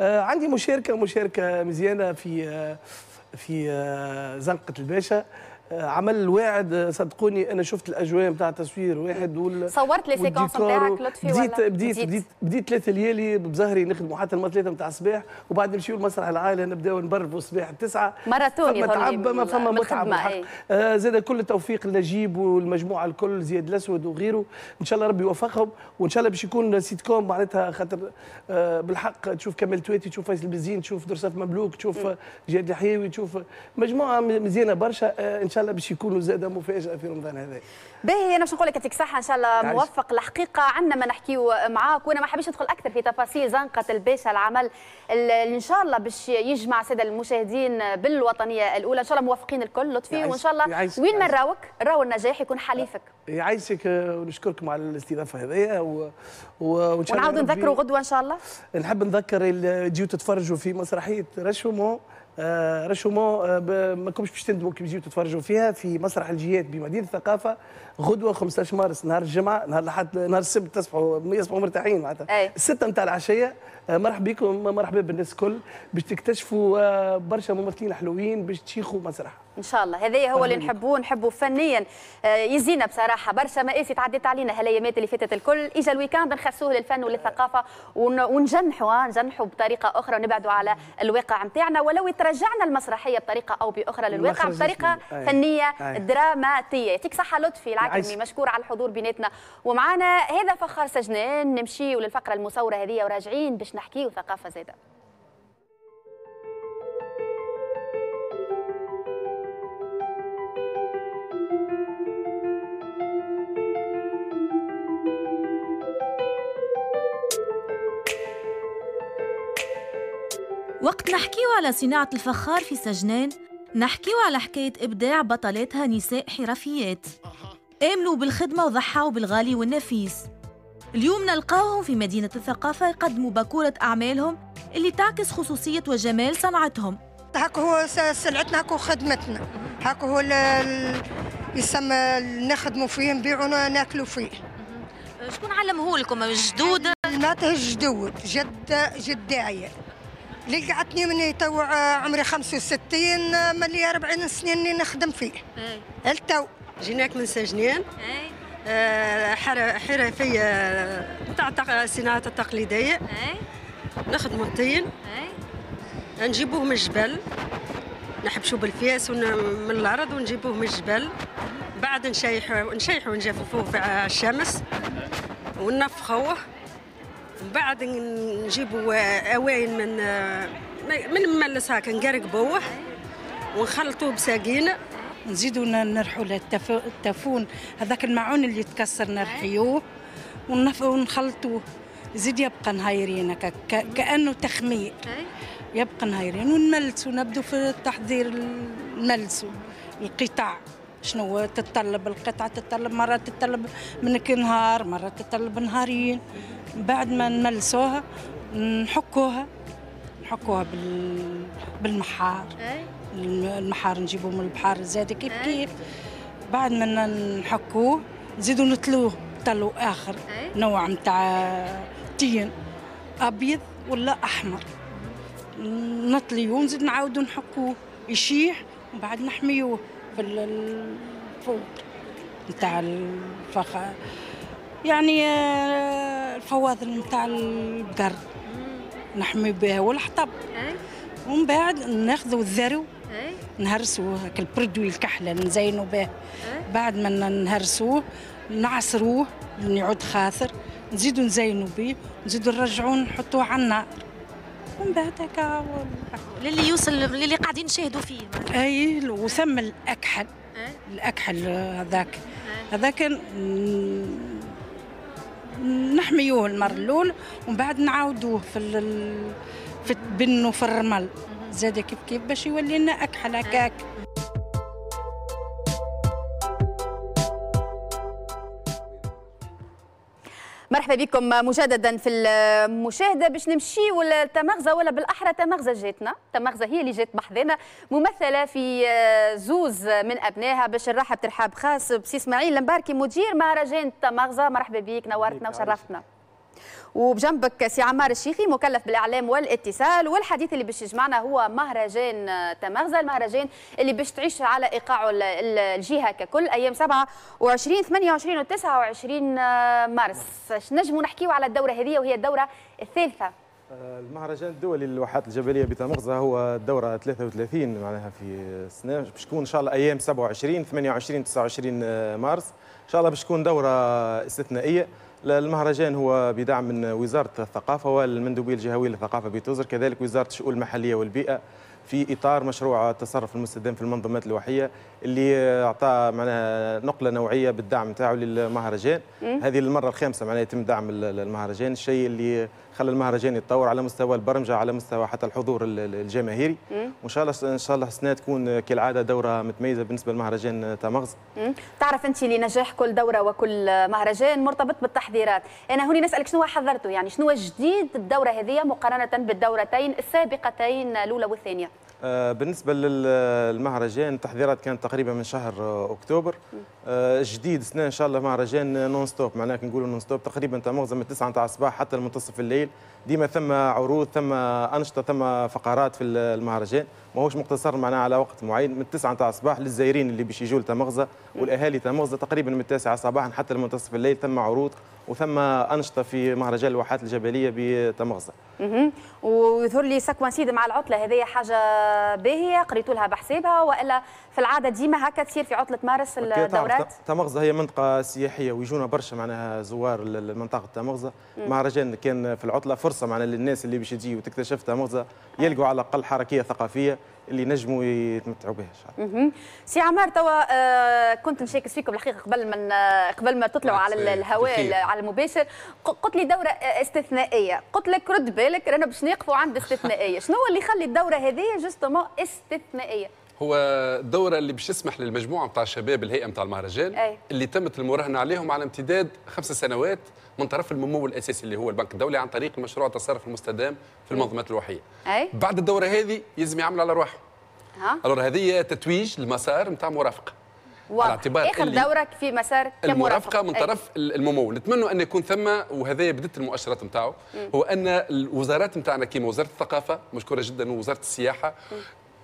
آه عندي مشاركة مشاركة مزيانه في آه في آه زنقه الباشا، عمل واعد. صدقوني انا شفت الاجواء نتاع التصوير واحد وال صورت les séquences نتاعك لطفي؟ بديت بديت بديت بديت ثلاثة ليالي بزهري نخدموا حتى المرة ثلاثة نتاع الصباح، وبعد نمشيو لمسرح العائلة نبداو نبرفوا الصباح التسعة. ماراثون فما تعب ما فما متعه. آه زاد كل التوفيق لنجيب والمجموعة الكل، زياد الاسود وغيره، ان شاء الله ربي يوفقهم، وان شاء الله باش يكون سيت كوم معناتها خاطر آه بالحق تشوف كمال تواتي، تشوف فيصل بزين، تشوف درصاف مملوك، تشوف جهاد الحيوي، تشوف مجموعة مزيانه برشا. آه ان شاء الله باش يكونوا زاده مفاجاة في رمضان هذا. باهي، انا باش نقول لك يعطيك الصحة، ان شاء الله موفق. الحقيقة عندنا ما نحكيو معاك، وانا ما حبيتش ندخل اكثر في تفاصيل زنقه الباشا، العمل اللي ان شاء الله باش يجمع السادة المشاهدين بالوطنيه الاولى. ان شاء الله موفقين الكل لطفي، وان شاء الله وين ما نراوك راو النجاح يكون حليفك. يعيشك ونشكركم على الاستضافة هذيا، و... وان شاء الله ونعاودوا نذكروا غدوه ان شاء الله. نحب نذكر اللي تجيو تتفرجوا في مسرحية رشومون، آه رشومون آه ما كومش باش تندموا كي تجيو تتفرجوا فيها في مسرح الجهات بمدينة الثقافة غدوه خمسطاش مارس نهار الجمعة، نهار الاحد، نهار السبت تصبحوا يصبحوا مرتاحين معناتها الستة نتاع العشية. آه مرحبا بكم، مرحبا بالناس الكل باش تكتشفوا آه برشا ممثلين حلوين باش تشيخوا مسرح ان شاء الله. هذا هو اللي نحبوه، نحبوه فنيا. آه يزينا بصراحة برشا مآسي تعديت علينا هالايامات اللي فاتت الكل، اجا ال week-end نخصوه للفن وللثقافه ونجنحوا نجنحوا بطريقة اخرى ونبعدوا على الواقع نتاعنا، ولو ترجعنا المسرحية بطريقة او باخرى للواقع بطريقة أي. فنية أي. دراماتيه. يعطيك صحة لطفي العكرمي، مشكور على الحضور بيناتنا ومعنا. هذا فخار سجنان، نمشيو للفقرة المصورة هذه وراجعين باش نحكيو ثقافة زاده. وقت نحكيو على صناعة الفخار في سجنان، نحكيو على حكاية إبداع بطلاتها نساء حرفيات آمنوا بالخدمة وضحوا بالغالي والنفيس. اليوم نلقاهم في مدينة الثقافة يقدموا باكورة أعمالهم اللي تعكس خصوصية وجمال صنعتهم. هاكو هو سلعتنا، هاكو خدمتنا، هاكو هو يسمى نخدموا فيه، نبيعوا ناكلوا فيه. شكون علمه لكم؟ الجدود؟ معناتها الجدود، جد جداية اللي قعدتني من تو عمري خمسة وستين، ملي أربعين سنة اني نخدم فيه. التو جيناك من سجنان، آه حرفية تاع الصناعة التقليدية. نخدموا الطين، نجيبوه من الجبل، نحبشوه بالفياس من الارض ونجيبوه من الجبل، بعد نشيحوه نشيحوه ونجففوه في الشمس وننفخوه، بعد نجيبوا اواين من من المملس هكا نقرقبوه ونخلطوه بساقينه. نزيدوا نرحوا التفون هذاك المعون اللي يتكسر نرحيوه ونخلطوه، زيد يبقى نهايرين كانه تخمير، يبقى نهايرين ونملسوا، نبدو في التحضير نملسوا القطع. شنو تتطلب القطعة؟ تتطلب مرة تتطلب منك نهار، مرة تتطلب نهارين. بعد ما نملسوها نحكوها، نحكوها بالمحار، المحار نجيبوه من البحر زاد كيف كيف. بعد ما نحكوه نزيدو نتلوه طلو اخر نوع نتاع تين ابيض ولا احمر، نطليوه ونزيد نعاودو نحكوه يشيح، ومن بعد نحميوه في الفوق نتاع الفخار، يعني الفواضل نتاع البقر نحمي بها والحطب. ومن بعد ناخذوا الذرو نهرسوه هاك ال produit الكحله نزينوا به. بعد ما نهرسوه نعصروه يعود خاثر، نزيدو نزينوا به، نزيدو نرجعوه نحطوه على النار ومن بعد هكا للي يوصل للي قاعدين نشاهدوا فيه. اي وثم الاكحل، الاكحل هذاك هذاك نحميوه المرة الاولى ومن بعد نعاودوه في ال... في البن وفي الرمل زاد كيف كيف باش يولي لنا اكحل هكاك. مرحبا بكم مجددا في المشاهدة. باش نمشيو لتمغزه، ولا بالاحرى تمغزه جاتنا، تمغزه هي اللي جات بحذانا ممثلة في زوز من ابنائها. باش نرحب ترحاب خاص بسي اسماعيل المباركي مدير مهرجان تمغزه، مرحبا بك، نورتنا وشرفتنا. وبجنبك سي عمار الشيخي مكلف بالاعلام والاتصال، والحديث اللي باش يجمعنا هو مهرجان تمغزه، المهرجان اللي باش تعيش على ايقاعه الجهة ككل ايام سبعة وعشرين ثمانية وعشرين وتسعة وعشرين مارس. نجموا نحكيوا على الدورة هذه وهي الدورة الثالثة. المهرجان الدولي للواحات الجبلية بتمغزه هو الدورة ثلاثة وثلاثين معناها في السنة، باش تكون ان شاء الله ايام سبعة وعشرين ثمانية وعشرين تسعة وعشرين مارس، ان شاء الله باش تكون دوره استثنائية. المهرجان هو بدعم من وزارة الثقافة والمندوبية الجهوية للثقافة بتوزر، كذلك وزارة الشؤون المحلية والبيئة في إطار مشروع التصرف المستدام في المنظومات الواحية اللي أعطى معناها نقلة نوعية بالدعم تاعو للمهرجان. هذه المرة الخامسة معناها يتم دعم المهرجان، الشيء اللي خلى المهرجان يتطور على مستوى البرمجة، على مستوى حتى الحضور الجماهيري. وإن شاء الله إن شاء الله السنة تكون كالعادة دورة متميزة بالنسبة لمهرجان تمغزة. تعرف أنت لنجاح كل دورة وكل مهرجان مرتبط بالتحضيرات، أنا هوني نسألك شنو حضرته، يعني شنو جديد الدورة هذه مقارنة بالدورتين السابقتين الأولى والثانية؟ بالنسبة للمهرجان التحضيرات كانت تقريبا من شهر أكتوبر. جديد سنة إن شاء الله مهرجان non-stop، معناها نقولوا non-stop تقريبا تمغزة من تسعة نتاع الصباح حتى المنتصف الليل، ديما ثم عروض، ثم أنشطة، ثم فقرات في المهرجان، ماهوش مقتصر معناها على وقت معين. من تسعة نتاع الصباح للزائرين اللي باش يجوا لتمغزة والأهالي تمغزة تقريبا من التاسعة صباحا حتى المنتصف الليل ثم عروض وثم أنشطة في مهرجان الواحات الجبلية بتمغزة. ويظهر لي ça coïncide مع العطلة هذه حاجة باهية قريتوا لها بحسابها، وإلا في العادة ديما هكا تصير في عطلة مارس الدورات؟ تمغزة هي منطقة سياحية ويجونا برشا معناها زوار لمنطقة تمغزة. مهرجان كان في العطلة فرصة معناها للناس اللي باش تجي وتكتشف تمغزة يلقوا على الأقل حركية ثقافية اللي نجموا يتمتعوا بها ان شاء الله. سي عمار توا آه كنت نشاكس فيكم الحقيقة قبل من آه قبل ما تطلعوا على الهواء على المباشر، قلت لي دوره استثنائية، قلت لك رد بالك رانا باش نقفوا عند استثنائية، شنو هو اللي يخلي الدورة هذه justement استثنائية؟ هو الدورة اللي باش تسمح للمجموعة نتاع الشباب الهيئة نتاع المهرجان أي. اللي تمت المراهنة عليهم على امتداد خمس سنوات من طرف الممول الاساسي اللي هو البنك الدولي عن طريق المشروع التصرف المستدام في المنظومات الواحيه. أي. بعد الدورة هذه يلزم يعملوا على رواحهم. alors هذه تتويج المسار نتاع مرافقة. على اعتبار اخر دوره في مسار كمرافقه من طرف أي. الممول، نتمنوا ان يكون ثم، وهذا بدت المؤشرات نتاعو، هو ان الوزارات نتاعنا كيما وزارة الثقافة مشكورة جدا ووزارة السياحة م.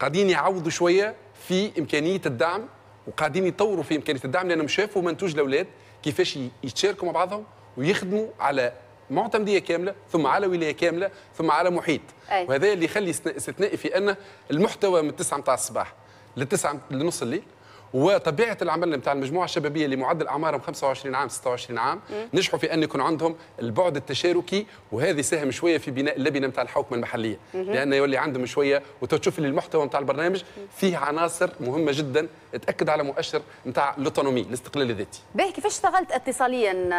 قاعدين يعوضوا شوية في امكانية الدعم وقاعدين يطوروا في امكانية الدعم، لانهم شافوا منتوج الاولاد كيفاش يتشاركوا مع بعضهم ويخدموا على معتمديه كاملة ثم على ولاية كاملة ثم على محيط. أي. وهذا اللي يخلي استثنائي في ان المحتوى من تسعة نتاع الصباح للتسعة لنص الليل، وطبيعه العمل نتاع المجموعة الشبابية اللي معدل اعمارهم خمسة وعشرين عام ستة وعشرين عام نجحوا في ان يكون عندهم البعد التشاركي، وهذا ساهم شوية في بناء اللبنة نتاع الحوكمة المحلية، لان يولي عندهم شوية، وتشوف اللي المحتوى نتاع البرنامج فيه عناصر مهمة جدا تاكد على مؤشر نتاع l'autonomie الاستقلال الذاتي. باهي، كيفاش اشتغلت اتصاليا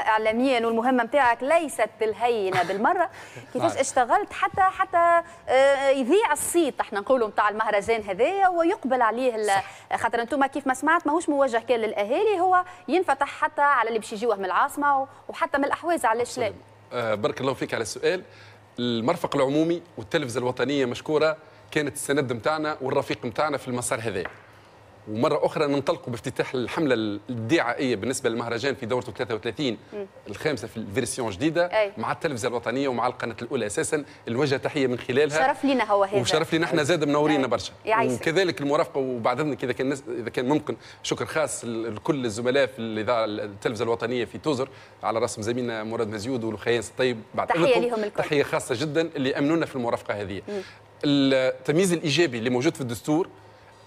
اعلاميا والمهمه نتاعك ليست بالهينه بالمرة، كيفاش اشتغلت حتى حتى يذيع الصيت احنا نقولوا نتاع المهرجان هذايا ويقبل عليه، خاطر انتم كيف ما سمعت ماهوش موجه كان للاهالي، هو ينفتح حتى على اللي باش يجيوه من العاصمة وحتى من الاحواز، علاش لا؟ آه بارك الله فيك على السؤال. المرفق العمومي والتلفزه الوطنية مشكورة كانت السند نتاعنا والرفيق نتاعنا في المسار هذا. ومرة اخرى ننطلقوا بافتتاح الحملة الدعائية بالنسبة للمهرجان في دورته ثلاثة وثلاثين الخامسة في ال version جديدة أي. مع التلفزة الوطنية ومع القناة الاولى اساسا الوجه تحية من خلالها. شرف لنا هو هذا، وشرف لنا احنا زاد منورينا برشا، وكذلك المرافقة. وبعد اذنك اذا كان اذا كان ممكن شكر خاص لكل الزملاء في الاذاعة التلفزة الوطنية في توزر على راسهم زميلنا مراد مزيود والخيان الطيب، بعد تحية لهم الكل، تحية خاصة جدا اللي امنونا في المرافقة هذه. التمييز الايجابي اللي موجود في الدستور،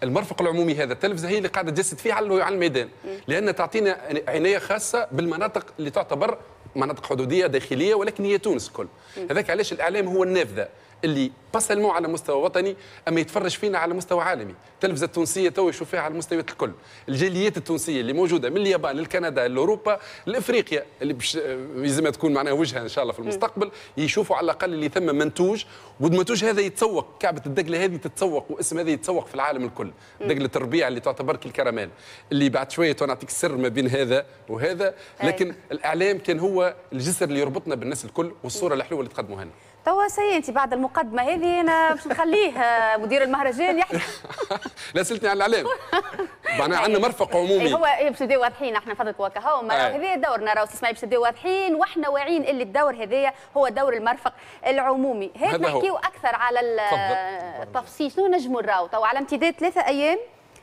المرفق العمومي هذا التلفزة هي اللي قاعدة تجسد فيه على الميدان، لان تعطينا عناية خاصة بالمناطق اللي تعتبر مناطق حدوديه داخلية، ولكن هي تونس الكل. هذاك علاش الاعلام هو النافذة اللي pas seulement على مستوى وطني، اما يتفرج فينا على مستوى عالمي. التلفزة التونسية تو يشوف فيها على المستويات الكل. الجاليات التونسية اللي موجودة من اليابان للكندا لاوروبا لافريقيا اللي باش يلزمها تكون معناها وجهها ان شاء الله في المستقبل، يشوفوا على الاقل اللي ثم منتوج، والمنتوج هذا يتسوق، كعبه الدقله هذه تتسوق، واسم هذا يتسوق في العالم الكل. دقله الربيع اللي تعتبر كالكراميل، اللي بعد شوية نعطيك السر ما بين هذا وهذا، لكن الاعلام كان هو الجسر اللي يربطنا بالناس الكل والصورة الحلوة اللي تقدموها لنا. توا سي انت بعد المقدمة هذه انا باش نخليه مدير المهرجان يحكي. لا سالتني على الاعلام، معناها عندنا مرفق عمومي. هو باش نبداو واضحين احنا فضلك وكهو، هذا دورنا راهو اسمعي، باش نبداو واضحين واحنا واعيين اللي الدور هذايا هو دور المرفق العمومي. هات نحكيو اكثر على التفصيل، شنو نجموا نراو توا على امتداد ثلاثة ايام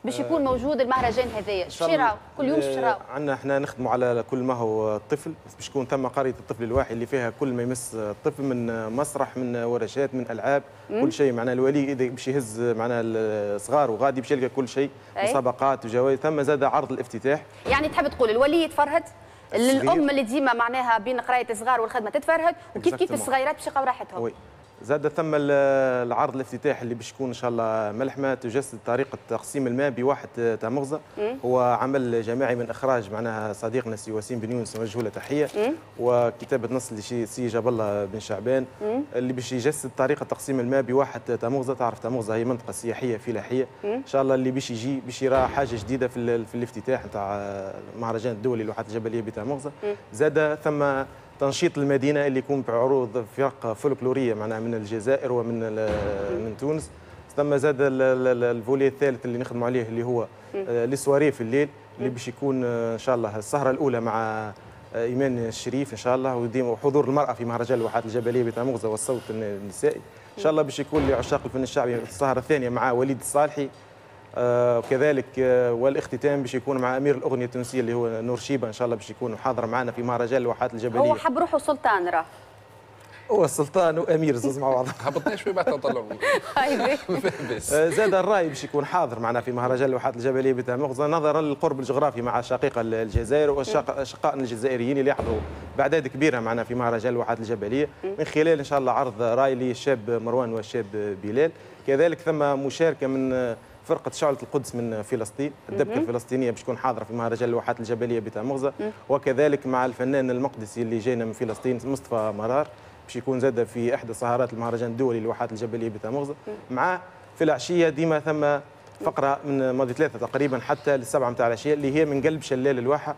باش يكون موجود المهرجان هذايا؟ باش يراو كل يوم، باش يراو عندنا احنا نخدموا على كل ما هو الطفل، باش يكون ثم قرية الطفل الواحد اللي فيها كل ما يمس الطفل، من مسرح، من ورشات، من العاب، مم. كل شيء. معناها الولي اذا باش يهز معناها الصغار وغادي باش يلقى كل شيء، مسابقات وجوائز. ثم زاد عرض الافتتاح. يعني تحب تقول الولي يتفرهد، الام اللي ديما معناها بين قرايه الصغار والخدمة تتفرهد، وكيف كيف الصغيرات باش يلقاو راحتهم. oui. زاد ثم العرض الافتتاحي اللي باش يكون ان شاء الله ملحمة تجسد طريقه تقسيم الماء بواحد تمغزه. هو عمل جماعي من اخراج معناها صديقنا سي وسيم بن يونس، نوجه له تحية، وكتابه نص لسي جاب الله بن شعبان، مم. اللي باش يجسد طريقه تقسيم الماء بواحد تمغزه. تعرف تمغزه هي منطقة سياحية فلاحية. ان شاء الله اللي باش يجي باش يرى حاجة جديدة في, في الافتتاح نتاع المهرجان الدولي للواحات الجبلية بتمغزه. زاد ثم تنشيط المدينة اللي يكون بعروض فرق فولكلوريه معناها من الجزائر ومن من تونس. ثم زاد ال volet الثالث اللي نخدموا عليه اللي هو les soirées في الليل، اللي باش يكون ان شاء الله السهرة الاولى مع ايمان الشريف ان شاء الله، وحضور المراة في مهرجان الواحات الجبلية بتمغزه والصوت النسائي ان شاء الله باش يكون لعشاق الفن الشعبي السهرة الثانية مع وليد الصالحي، وكذلك آه والاختتام باش يكون مع امير الاغنية التونسية اللي هو نور شيبة ان شاء الله باش يكون حاضر معنا في مهرجان الواحات الجبلية. هو حب روحه سلطان، راه هو السلطان وامير زوز مع بعض. هبطنا شوي بعد نطلعوا. زاد الراي باش يكون حاضر معنا في مهرجان الواحات الجبلية بتمغزه نظرا للقرب الجغرافي مع شقيقه الجزائر واشقائنا الجزائريين اللي يحضروا باعداد كبيرة معنا في مهرجان الواحات الجبلية، من خلال ان شاء الله عرض راي للشاب مروان والشاب بلال. كذلك ثم مشاركة من فرقة شعلة القدس من فلسطين، الدبكة الفلسطينية باش تكون حاضرة في مهرجان الواحات الجبلية بتمغزة، وكذلك مع الفنان المقدسي اللي جاينا من فلسطين مصطفى مرار باش يكون زاد في إحدى سهرات المهرجان الدولي للواحات الجبلية بتمغزة. مع في العشية ديما ثم فقرة من ماضي ثلاثة تقريبا حتى للسبعة متاع العشية اللي هي من قلب شلال الواحة،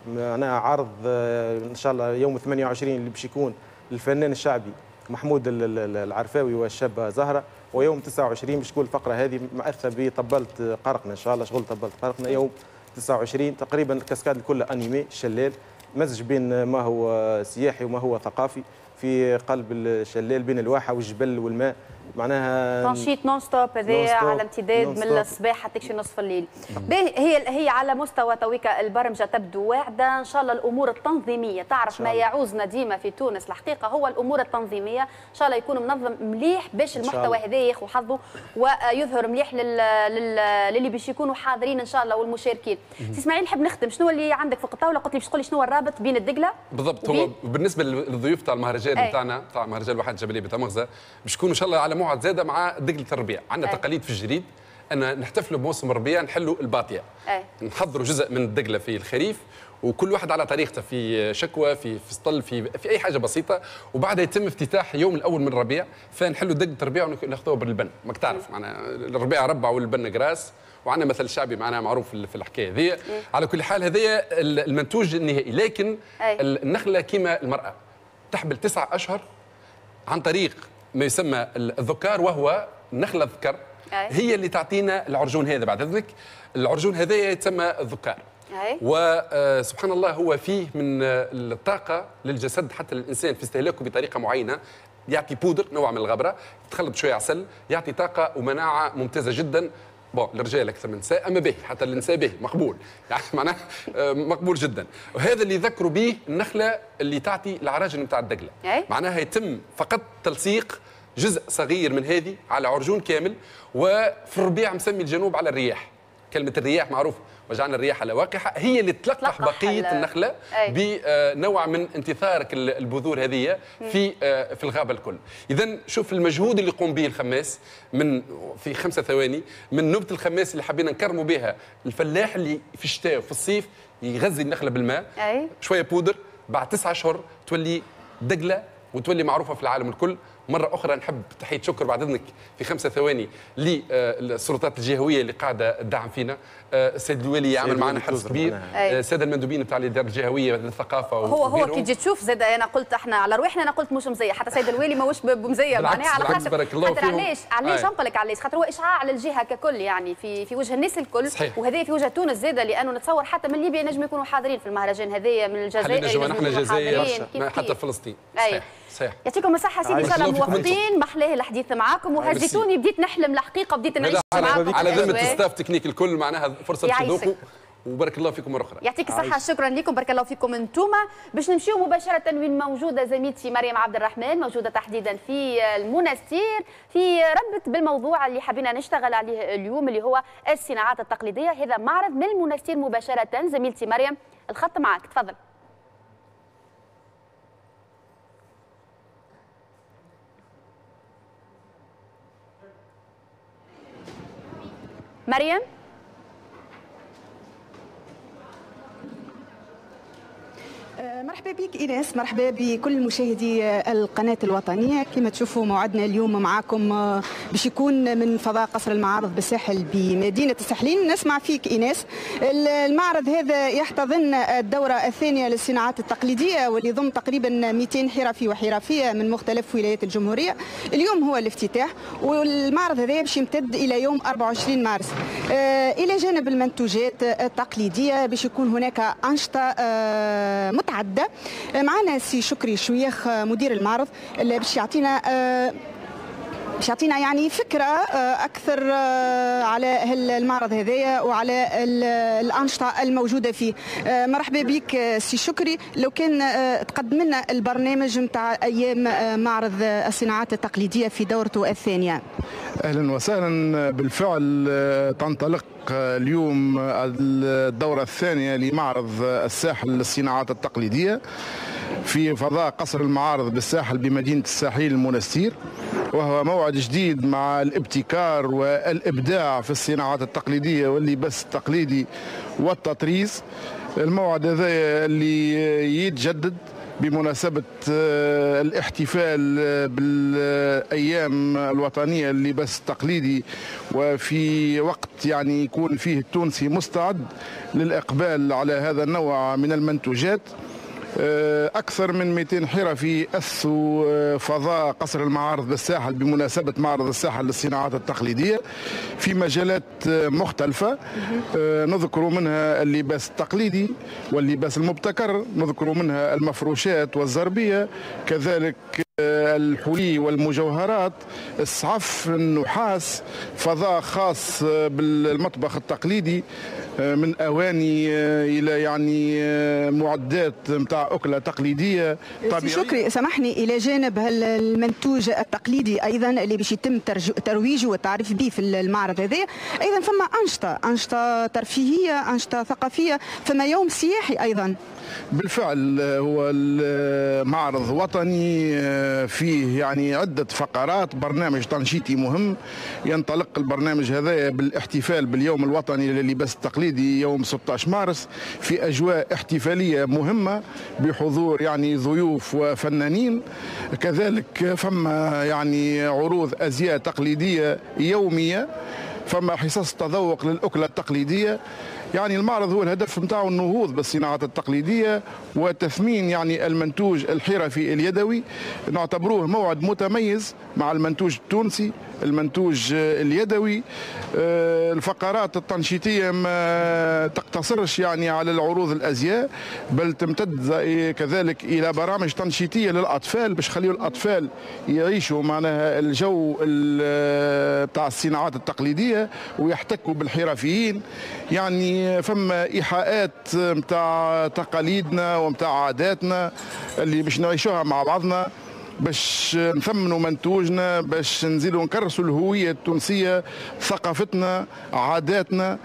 معناها عرض إن شاء الله يوم ثمانية وعشرين اللي باش يكون الفنان الشعبي محمود العرفاوي والشابة زهرة، ويوم تسعة وعشرين باش تكون الفقرة هذه مأثة بطبلة قرقنا إن شاء الله، شغل طبلة قرقنا يوم تسعة وعشرين تقريبا. ال cascade الكل animée شلال، مزج بين ما هو سياحي وما هو ثقافي في قلب الشلال بين الواحة والجبل والماء، معناها تنشيط non-stop هذايا على امتداد من الصباح حتى شي نصف الليل. هي هي على مستوى تويكا البرمجة تبدو واعده ان شاء الله. الامور التنظيمية تعرف ما يعوزنا ديما في تونس الحقيقة هو الامور التنظيمية، ان شاء الله يكون منظم مليح باش المحتوى هذا ياخذ حظه ويظهر مليح لل... لل... للي باش يكونوا حاضرين ان شاء الله والمشاركين. سي اسماعيل نحب نختم، شنو اللي عندك فوق الطاولة؟ قلت لي باش تقول لي شنو الرابط بين الدقله بالضبط. هو بالنسبة للضيوف تاع المهرجان نتاعنا تاع مهرجان الواحات الجبلية بتمغزه باش يكونوا ان شاء الله على موعد زاده مع دقله الربيع. عندنا تقاليد في الجريد ان نحتفلوا بموسم الربيع، نحلوا الباطيه، نحضروا جزء من الدقله في الخريف، وكل واحد على طريقته في شكوى في في سطل في في اي حاجة بسيطة، وبعدها يتم افتتاح يوم الاول من الربيع، فنحلوا دقله الربيع وناخذوها باللبن. ماك تعرف معناها الربيع ربع واللبن قراس، وعندنا مثل شعبي معناها معروف في الحكاية هذه. على كل حال هذايا المنتوج النهائي، لكن النخلة كما المراة تحمل تسعة اشهر عن طريق ما يسمى الذكار، وهو نخلة الذكر هي اللي تعطينا العرجون هذا. بعد اذنك العرجون هذا يتسمى الذكار، وسبحان الله هو فيه من الطاقة للجسد حتى للإنسان في استهلاكه بطريقة معينة، يعطي بودر نوع من الغبرة تخلط شوية عسل، يعطي طاقة ومناعة ممتازة جدا. bon للرجال اكثر من النساء، اما به حتى للنساء به مقبول، يعني معناه مقبول جدا. وهذا اللي ذكروا به النخلة اللي تعطي العراجن نتاع الدقله، معناها يتم فقط تلصيق جزء صغير من هذه على عرجون كامل. وفي الربيع مسمي الجنوب على الرياح، كلمة الرياح معروف، وجعلنا الرياح لواقحه، هي اللي تلقح بقية النخلة بنوع من انتثار البذور هذه في في الغابة الكل. اذا شوف المجهود اللي يقوم به الخماس من في خمسة ثواني من نبت الخماس اللي حبينا نكرموا بها الفلاح اللي في الشتاء وفي الصيف يغذي النخلة بالماء. أي. شوية بودر، بعد تسعة اشهر تولي دقله وتولي معروفة في العالم الكل. مرة اخرى نحب تحية شكر بعد اذنك في خمسة ثواني للسلطات الجهوية اللي قاعدة تدعم فينا، السيد الوالي يعمل معنا حرص كبير، السادة المندوبين نتاع الادارة الجهوية للثقافة. هو هو كي تجي تشوف زاد انا قلت احنا على رواحنا، انا قلت مش مزية، حتى السيد الوالي ماهوش بمزيه معناها، على خاطر بارك الله خاطر علاش علاش نقول لك علاش، خاطر هو اشعاع للجهة ككل يعني في في وجه الناس الكل. صحيح. وهذا في وجه تونس زاد، لانه نتصور حتى من ليبيا نجم يكونوا حاضرين في المهرجان هذايا، من الجزائر نحن الجزائر حتى فلسطين. صحيح صحيح. يعطيكم الصحة سيدي، ان شاء الله موفقين. محلاه الحديث معاكم وهزيتوني، بديت نحلم الحقيقة، بديت نعيش معاكم على ذمه staff technique الكل، معناها فرصة باش تذوقوا، وبارك الله فيكم مرة اخرى. يعطيك الصحة، شكرا لكم، بارك الله فيكم انتوما. باش نمشيو مباشرة وين موجودة زميلتي مريم عبد الرحمن، موجودة تحديدا في المنستير في ربط بالموضوع اللي حبينا نشتغل عليه اليوم اللي هو الصناعات التقليدية. هذا معرض من المنستير مباشرة. زميلتي مريم الخط معك، تفضل. مريم مرحبا بك إيناس، مرحبا بكل مشاهدي القناة الوطنية. كما تشوفوا موعدنا اليوم معاكم باش يكون من فضاء قصر المعارض بالساحل بمدينة الساحلين. نسمع فيك إيناس، المعرض هذا يحتضن الدورة الثانية للصناعات التقليدية واللي يضم تقريبا مئتين حرفي وحرفية من مختلف ولايات الجمهورية. اليوم هو الافتتاح، والمعرض هذا باش يمتد إلى يوم أربعة وعشرين مارس. إلى جانب المنتوجات التقليدية باش يكون هناك أنشطة متعددة. معنا سي شكري شويخ مدير المعرض اللي باش يعطينا باش يعطينا يعني فكرة أكثر على المعرض هذايا وعلى الأنشطة الموجودة فيه. مرحبا بك سي شكري، لو كان تقدم لنا البرنامج نتاع أيام معرض الصناعات التقليدية في دورته الثانية. أهلا وسهلا. بالفعل تنطلق اليوم الدورة الثانية لمعرض الساحل للصناعات التقليدية في فضاء قصر المعارض بالساحل بمدينة الساحل المنستير، وهو موعد جديد مع الابتكار والإبداع في الصناعات التقليدية واللباس التقليدي والتطريز. الموعد هذا اللي يتجدد بمناسبة الاحتفال بالأيام الوطنية للباس التقليدي، وفي وقت يعني يكون فيه التونسي مستعد للإقبال على هذا النوع من المنتوجات. أكثر من مئتين حرفي أسسوا فضاء قصر المعارض بالساحل بمناسبة معرض الساحل للصناعات التقليدية في مجالات مختلفة، نذكر منها اللباس التقليدي واللباس المبتكر، نذكر منها المفروشات والزربية، كذلك الحلي والمجوهرات، السعف، النحاس، فضاء خاص بالمطبخ التقليدي من اواني الى يعني معدات نتاع اكله تقليدية طبيعية. شكري سامحني، الى جانب المنتوج التقليدي ايضا اللي باش يتم ترويجه والتعريف به في المعرض هذا، ايضا فما انشطة انشطة ترفيهية، انشطة ثقافية، فما يوم سياحي ايضا. بالفعل هو المعرض وطني فيه يعني عدة فقرات، برنامج تنشيطي مهم. ينطلق البرنامج هذا بالاحتفال باليوم الوطني للباس التقليدي يوم ستة عشر مارس في أجواء احتفالية مهمة بحضور يعني ضيوف وفنانين. كذلك فما يعني عروض أزياء تقليدية يومية، فما حصص تذوق للأكلة التقليدية. يعني المعرض هو الهدف نتاعو النهوض بالصناعات التقليدية وتثمين يعني المنتوج الحرفي اليدوي. نعتبروه موعد متميز مع المنتوج التونسي، المنتوج اليدوي. الفقرات التنشيطية ما تقتصرش يعني على العروض الأزياء، بل تمتد كذلك إلى برامج تنشيطية للأطفال باش خليوا الأطفال يعيشوا معناها الجو بتاع الصناعات التقليدية ويحتكوا بالحرفيين. يعني فما إيحاءات متاع تقاليدنا ومتاع عاداتنا اللي باش نعيشوها مع بعضنا. باش نثمنوا منتوجنا، باش نزيدوا نكرسوا الهوية التونسية، ثقافتنا، عاداتنا.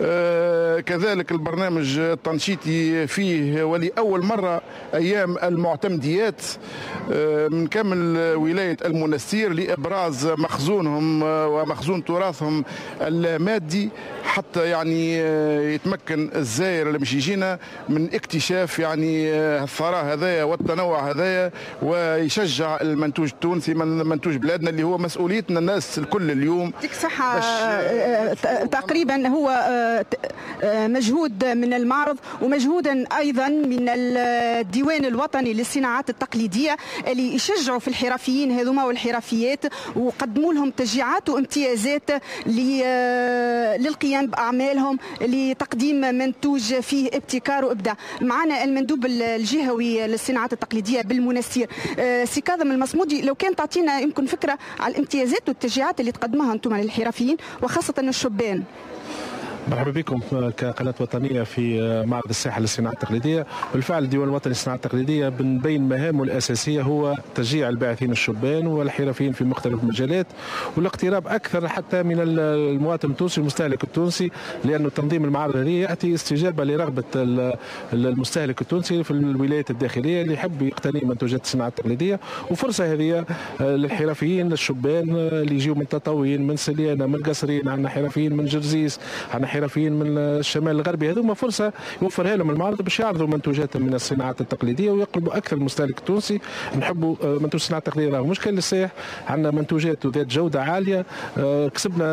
آه كذلك البرنامج التنشيطي فيه ولأول مرة أيام المعتمديات آه من كامل ولاية المنستير لإبراز مخزونهم ومخزون تراثهم المادي، حتى يعني يتمكن الزائر اللي باش يجينا من اكتشاف يعني الثراء هذايا والتنوع هذايا، ويشجع المنتوج التونسي، من منتوج بلادنا اللي هو مسؤوليتنا الناس الكل اليوم. يعطيك الصحة. تقريبا هو مجهود من المعرض ومجهودا أيضا من الديوان الوطني للصناعات التقليدية اللي يشجعوا في الحرفيين هذوما والحرفيات، وقدموا لهم تشجيعات وامتيازات للقيام بأعمالهم لتقديم منتوج فيه ابتكار وإبداع. معنا المندوب الجهوي للصناعات التقليدية بالمنستير سي كاظم المصمودي، لو كان تعطينا يمكن فكرة على الامتيازات والتشجيعات اللي تقدمها أنتم للحرفيين وخاصة الشبان. مرحبا بكم كقناة وطنية في معرض الساحة للصناعة التقليدية. بالفعل الديوان الوطني للصناعة التقليدية من بين مهامه الأساسية هو تشجيع الباعثين الشبان والحرفيين في مختلف المجالات، والاقتراب أكثر حتى من المواطن التونسي المستهلك التونسي، لأن تنظيم المعارض هذه يأتي استجابة لرغبة المستهلك التونسي في الولايات الداخلية اللي يحب يقتني منتوجات الصناعة التقليدية. وفرصة هذه للحرفيين للشبان اللي يجيو من تطاوين، من سليانة، من قصرين، عندنا حرفيين من جرزيس، عندنا حرفيين من الشمال الغربي. هذوما فرصة يوفرها لهم المعرض باش يعرضوا منتوجاتهم من الصناعات التقليدية ويقربوا اكثر المستهلك التونسي. نحبوا منتوج الصناعة التقليدية راهو مش كان للسائح، عندنا منتوجات ذات جوده عالية، كسبنا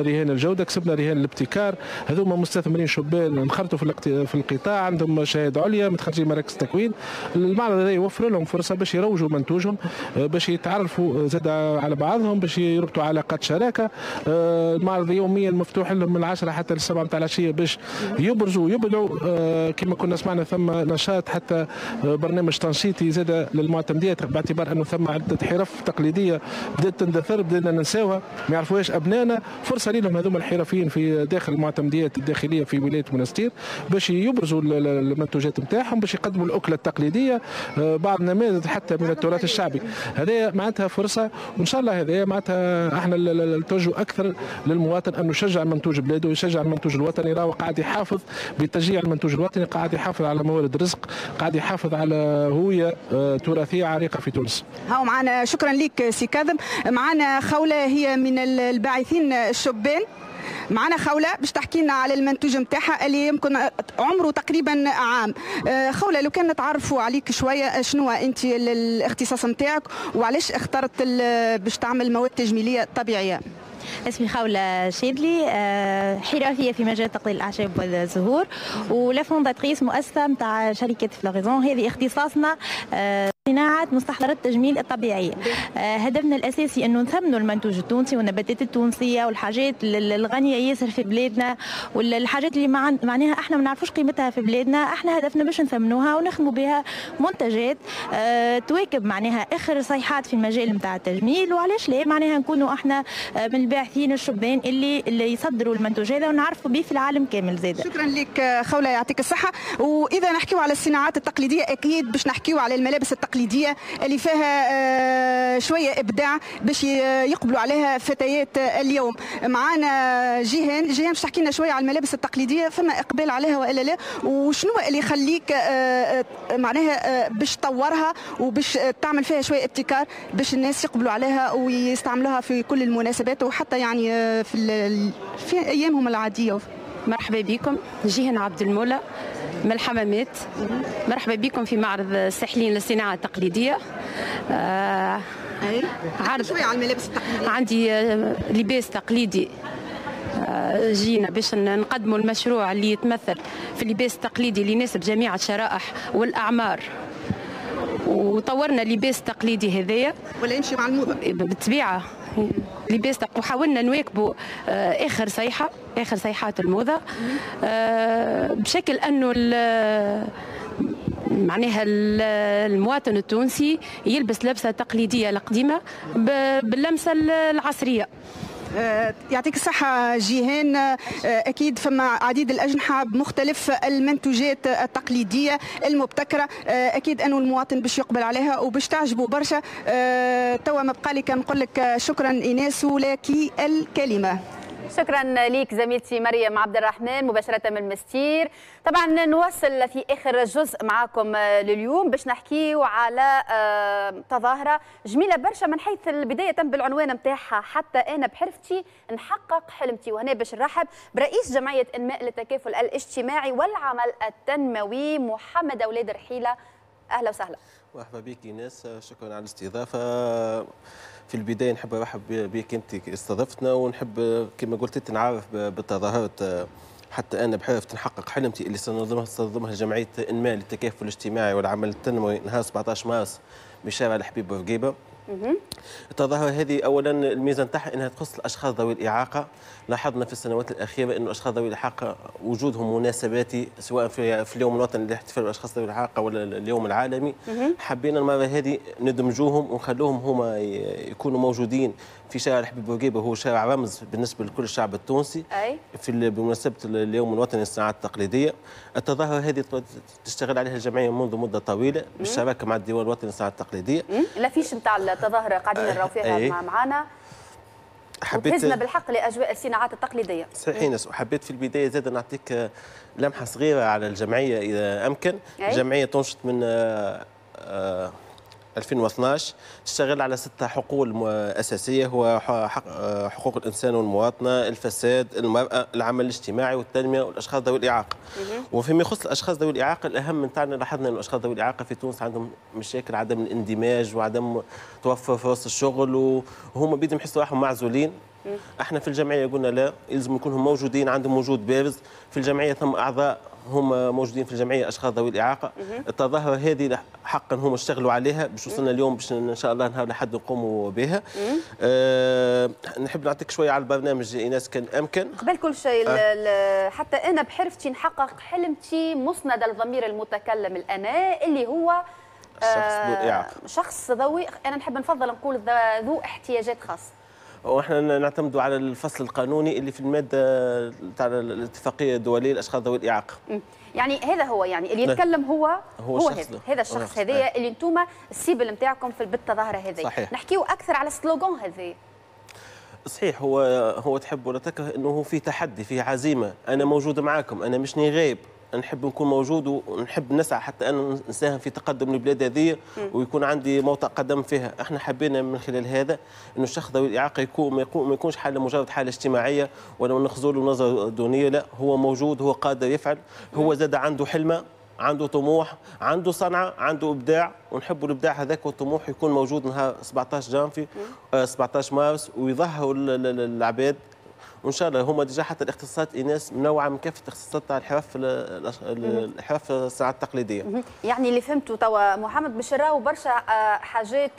رهان الجودة، كسبنا رهان الابتكار. هذوما مستثمرين شبان انخرطوا في في القطاع، عندهم شهادة عليا، متخرجين مراكز التكوين. المعرض هذا يوفر لهم فرصة باش يروجوا منتوجهم، باش يتعرفوا زاد على بعضهم، باش يربطوا علاقات شراكة. المعرض يوميا مفتوح لهم من العشرة حتى السبعة نتاع العشية باش يبرزوا ويبدعوا. آه كما كنا سمعنا ثم نشاط حتى برنامج تنشيطي زاد للمعتمديات، باعتبار انه ثم عده حرف تقليدية بدات تندثر، بدنا ننساوها، ما يعرفوهاش ابنائنا. فرصة لهم هذوما الحرفيين في داخل المعتمديات الداخلية في ولاية منستير باش يبرزوا المنتوجات نتاعهم، باش يقدموا الاكلة التقليدية، آه بعض النماذج حتى من التراث الشعبي. هذا معناتها فرصة، وان شاء الله هذا معناتها احنا التوجه اكثر للمواطن انه يشجع منتوج بلاده ويشجع المنتوج الوطني. راهو قاعد يحافظ بتشجيع المنتوج الوطني، قاعد يحافظ على موارد الرزق، قاعد يحافظ على هوية تراثيه عريقة في تونس. هاو معنا، شكرا لك سي كاظم. معنا خوله هي من الباعثين الشبان. معنا خولة باش تحكي لنا على المنتوج نتاعها اللي يمكن عمره تقريبا عام. خولة، لو كان نتعرفوا عليك شوية، شنو انت الاختصاص نتاعك وعلاش اخترت باش تعمل مواد تجميليه طبيعية؟ اسمي خولة شادلي، حرفية في مجال تقليل الأعشاب والزهور، و la fondatrice مؤسسة نتاع شركة Floraison. هذه اختصاصنا صناعة مستحضرات التجميل الطبيعية. هدفنا الأساسي أنه نثمنوا المنتوج التونسي والنباتات التونسية والحاجات الغنية ياسر في بلادنا، والحاجات اللي معناها احنا ما نعرفوش قيمتها في بلادنا. احنا هدفنا باش نثمنوها ونخدموا بها منتجات تواكب معناها آخر صيحات في المجال نتاع التجميل. وعلاش لا معناها نكونوا احنا من الباعثين الشبان اللي اللي يصدروا المنتوج هذا ونعرفوا به في العالم كامل زاد. شكرا لك خولة، يعطيك الصحة. وإذا نحكيو على الصناعات التقليدية أكيد باش نحكيو على الملابس التقليدية اللي فيها شوية إبداع باش يقبلوا عليها فتيات اليوم. معانا جيهان، جيهان باش تحكي لنا شوية على الملابس التقليدية، فما إقبال عليها وإلا لا، وشنو اللي يخليك معناها باش تطورها وباش تعمل فيها شوية ابتكار باش الناس يقبلوا عليها ويستعملوها في كل المناسبات وحتى يعني في في أيامهم العادية. مرحبا بكم، جيهان عبد المولى من الحمامات. مرحبا بكم في معرض الساحلين للصناعة التقليدية. آه عرض شوية على الملابس التقليدية. عندي لباس تقليدي، آه جينا باش نقدموا المشروع اللي يتمثل في اللباس التقليدي اللي يناسب جميع الشرائح والأعمار، وطورنا اللباس التقليدي هذايا ولا يمشي مع الموضة بالطبيعة. لباس وحاولنا نواكبوا اخر صيحة، اخر صيحات الموضة، بشكل انه معناها المواطن التونسي يلبس لبسه تقليدية القديمة باللمسه العصرية. يعطيك الصحة جيهان. أكيد فما عديد الأجنحة بمختلف المنتوجات التقليدية المبتكرة، أكيد أنه المواطن باش يقبل عليها وباش تعجبه برشا. توا ما بقى لي كان نقول لك شكرا إيناس ولك الكلمة. شكرا ليك زميلتي مريم عبد الرحمن مباشرة من المستير. طبعا نواصل في آخر جزء معاكم لليوم باش نحكيو على تظاهرة جميلة برشا من حيث البداية بالعنوان نتاعها حتى أنا بحرفتي نحقق حلمتي. وهنا باش نرحب برئيس جمعية إنماء للتكافل الاجتماعي والعمل التنموي محمد أولاد رحيلة. أهلا وسهلا. مرحبا بك إيناس، شكرا على الاستضافة. في البداية نحب نرحب بك أنت استضفتنا، ونحب كما قلت أنت نعرف بالتظاهرة حتى أنا بحرفت نحقق حلمتي اللي سننظمها ستنظمها جمعية إنماء للتكافل الاجتماعي والعمل التنموي نهار سبعطاش مارس بشارع الحبيب بورقيبة. التظاهرة هذه أولا الميزة نتاعها أنها تخص الأشخاص ذوي الإعاقة. لاحظنا في السنوات الأخيرة أن الأشخاص ذوي الإعاقة وجودهم مناسباتي سواء في في اليوم الوطني للاحتفال بالأشخاص ذوي الإعاقة ولا اليوم العالمي. حبينا المرة هذه ندمجوهم ونخلوهم هما يكونوا موجودين في شارع الحبيب بورقيبة، هو شارع رمز بالنسبة لكل الشعب التونسي. أي. في بمناسبة اليوم الوطني للصناعات التقليدية. التظاهرة هذه تشتغل عليها الجمعية منذ مدة طويلة بالشراكة مع الديوان الوطني للصناعات التقليدية. l'affiche نتاع التظاهرة قاعدين نراو فيها معنا. حبيت وتهزنا بالحق لاجواء الصناعات التقليدية. صحيح إيناس، وحبيت في البداية زاد نعطيك لمحه صغيرة على الجمعية اذا امكن. أي. الجمعية تنشط من ألفين واثناش، تشتغل على ستة حقول أساسية، هو حقوق الإنسان والمواطنة، الفساد، المرأة، العمل الاجتماعي والتنمية والأشخاص ذوي الإعاقة. وفيما يخص الأشخاص ذوي الإعاقة، الأهم من تاعنا لاحظنا أن الأشخاص ذوي الإعاقة في تونس عندهم مشاكل عدم الاندماج وعدم توفر فرص الشغل، وهم بيدهم يحسوا روحهم معزولين. احنا في الجمعية قلنا لا، يلزم يكونوا موجودين، عندهم وجود بارز في الجمعية. ثم اعضاء هم موجودين في الجمعية اشخاص ذوي الاعاقة. التظاهرة هذه حقا هم اشتغلوا عليها باش وصلنا اليوم باش ان شاء الله نهار لحد نقوموا بها. أه نحب نعطيك شوية على البرنامج ايناس كان امكن. قبل كل شيء أه. حتى انا بحرفتي نحقق حلمتي مسند الضمير المتكلم الانا اللي هو شخص ذو اعاقه، شخص ذوي، انا نحب نفضل نقول ذو احتياجات خاصة. واحنا نعتمد على الفصل القانوني اللي في المادة تاع الاتفاقية الدولية للاشخاص ذوي الاعاقة. يعني هذا هو، يعني اللي يتكلم هو هو, هو هذا هذا الشخص هذايا اللي انتم ال cible نتاعكم في بالتظاهره هذه. نحكيو اكثر على ال slogan هذا. صحيح، هو هو تحب ولا تكره انه هو فيه تحدي، فيه عزيمة، انا موجود معاكم، انا مشني غايب، نحب نكون موجود ونحب نسعى حتى أن نساهم في تقدم البلاد هذه ويكون عندي موطئ قدم فيها. احنا حبينا من خلال هذا انه الشخص ذوي الاعاقة يكون ما يكونش حاله مجرد حاله اجتماعية ولا نخزوا له نظره دونية، لا، هو موجود، هو قادر يفعل، هو زاد عنده حلمه، عنده طموح، عنده صنعه، عنده ابداع، ونحبوا الابداع هذاك والطموح يكون موجود نهار سبعطاش جانفي سبعطاش مارس ويظهروا العباد. وان شاء الله هما déjà حتى الاختصاصات ايناس منوعة من كافة الاختصاصات تاع الحرف الحرف الصناعة التقليدية. يعني اللي فهمته توا محمد باش نراو برشا حاجات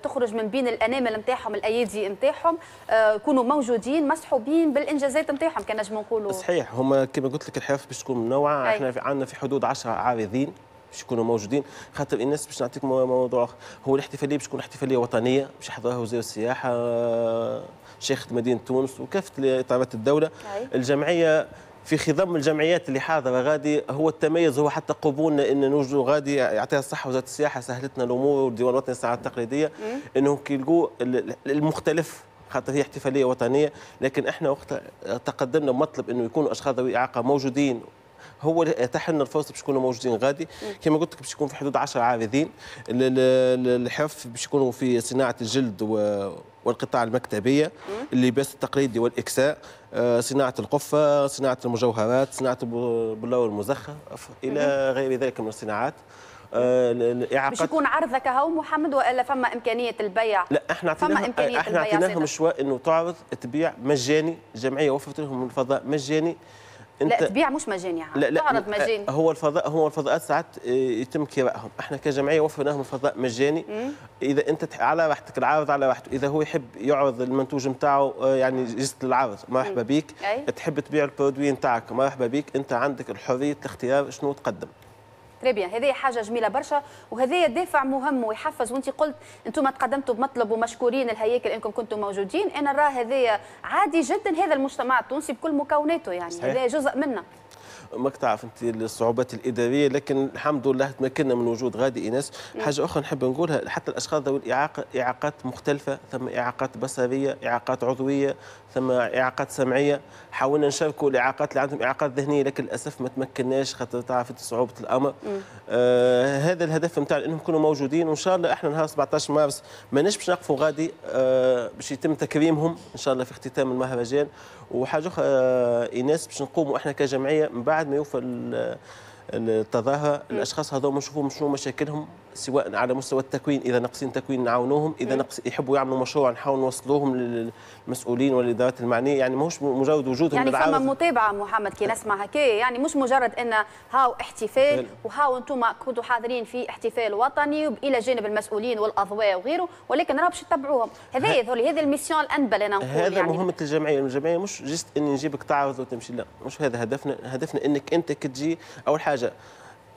تخرج من بين الانامل نتاعهم، الايادي نتاعهم، يكونوا موجودين مسحوبين بالانجازات نتاعهم كان نجموا نقولوا. صحيح، هما كما قلت لك الحرف باش تكون منوعة. احنا عندنا في حدود عشرة عارضين باش يكونوا موجودين. خاطر الناس باش نعطيك موضوع اخر، هو الاحتفالية باش تكون احتفالية وطنية باش يحضرها وزير السياحة، شيخة مدينة تونس وكافة اطارات الدولة. أي. الجمعية في خضم الجمعيات اللي حاضره غادي، هو التميز هو حتى قبولنا ان نوجدوا غادي، يعطيها الصحة وزارة السياحة سهلتنا الامور والديوان الوطني للصناعات التقليدية انه كي يلقوا المختلف، خاطر هي احتفالية وطنية، لكن احنا وقت تقدمنا بمطلب انه يكونوا اشخاص ذوي اعاقه موجودين، هو اللي اتاح لنا الفرصة باش يكونوا موجودين غادي. كما قلت لك باش يكون في حدود عشرة عارضين. الحرف باش يكونوا في صناعة الجلد والقطاع المكتبيه، اللباس التقليدي والاكساء، صناعة القفه، صناعة المجوهرات، صناعة البلاو المزخرف، الى غير ذلك من الصناعات. الاعاقات باش يكون عرضك هو محمد والا فما امكانية البيع؟ لا، احنا اعطيناهم احنا اعطيناهم الشواء انه تعرض تبيع مجاني، الجمعية وفرت لهم الفضاء مجاني. انت لا تبيع مش مجاني، لا لا تعرض مجاني. هو الفضاء هو الفضاءات ساعات يتم كرائهم، احنا كجمعية وفرنا لهم الفضاء مجاني. مم. اذا انت على راحتك، العارض على راحته، اذا هو يحب يعرض المنتوج نتاعو يعني juste العرض مرحبا بيك. أي. تحب تبيع ال produit نتاعك مرحبا بيك، انت عندك الحرية الاختيار شنو تقدم. très bien، هذه حاجة جميلة برشا وهذا دافع مهم ويحفز. وانت قلت انتم تقدمتوا بمطلب ومشكورين الهياكل انكم كنتم موجودين، انا نرى هذا عادي جدا، هذا المجتمع التونسي بكل مكوناته يعني هذا جزء منا. ماك تعرف انت الصعوبات الادارية، لكن الحمد لله تمكنا من وجود غادي ايناس. حاجة اخرى نحب نقولها، حتى الاشخاص ذوي الاعاقة اعاقات مختلفة، ثم اعاقات بصريه، اعاقات عضوية، ثم اعاقات سمعية. حاولنا نشاركوا الاعاقات اللي عندهم اعاقات ذهنية، لكن للاسف ما تمكناش خاطر تعرف انت صعوبة الامر. آه هذا الهدف نتاع انهم يكونوا موجودين، وان شاء الله احنا نهار سبعطاش مارس ماناش باش نقفوا غادي، آه باش يتم تكريمهم ان شاء الله في اختتام المهرجان. وحاجه اخرى ايناس، باش نقوموا احنا كجمعية من بعد ما يوفى التظاهرة الاشخاص هذول نشوفوا شنو مشاكلهم، سواء على مستوى التكوين، اذا ناقصين تكوين نعاونوهم، اذا نقص يحبوا يعملوا مشروع نحاول نوصلوهم للمسؤولين والادارات المعنية. يعني ماهوش مجرد وجودهم يعني فما متابعه محمد كي نسمع هكا، يعني مش مجرد ان هاو احتفال وهاو انتم كنتوا حاضرين في احتفال وطني والى جانب المسؤولين والاضواء وغيره، ولكن راه باش تتبعوهم. هذا هذا ال mission الانبل انا نقول، هذا يعني مهمة الجمعية. الجمعية مش juste اني نجيبك تعرض وتمشي، لا مش هذا هدفنا. هدفنا انك انت كتجي اول حاجة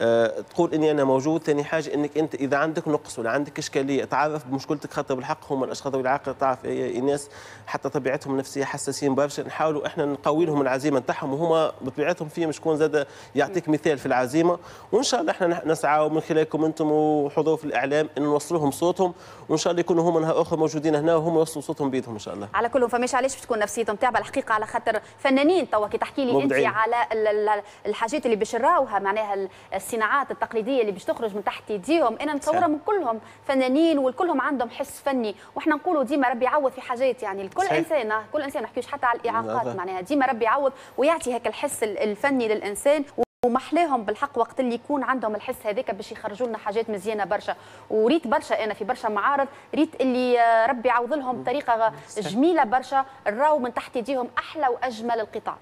أه تقول اني انا موجود، ثاني حاجة انك انت اذا عندك نقص ولا عندك اشكالية تعرف بمشكلتك، خاطر بالحق هم الاشخاص ذوي الاعاقة تعرف الناس حتى طبيعتهم النفسية حساسين برشا، نحاولوا احنا نقوي لهم العزيمة نتاعهم، وهما بطبيعتهم فيهم شكون زاد يعطيك مثال في العزيمة. وان شاء الله احنا نسعى من خلالكم انتم وحضور في الاعلام ان نوصل لهم صوتهم، وان شاء الله يكونوا هما نهار اخر موجودين هنا وهم يوصلوا صوتهم بيدهم ان شاء الله. على كل فماش علاش باش تكون نفسيتهم تعبه الحقيقة، على خاطر فنانين توا كي تحكي لي انت على الحاجات اللي باش نراوها، معناها الصناعات التقليدية اللي باش تخرج من تحت يديهم، انا نتصورها من كلهم فنانين والكلهم عندهم حس فني، واحنا نقولوا ديما ربي يعوض في حاجات، يعني الكل انسان، كل انسان ما نحكيوش حتى على الاعاقات، معناها ديما ربي يعوض ويعطي هيك الحس الفني للانسان. ومحلاهم بالحق وقت اللي يكون عندهم الحس هذاك باش يخرجوا لنا حاجات مزيانه برشا. وريت برشا انا في برشا معارض، ريت اللي ربي يعوض لهم بطريقة جميلة برشا، راو من تحت يديهم احلى واجمل القطع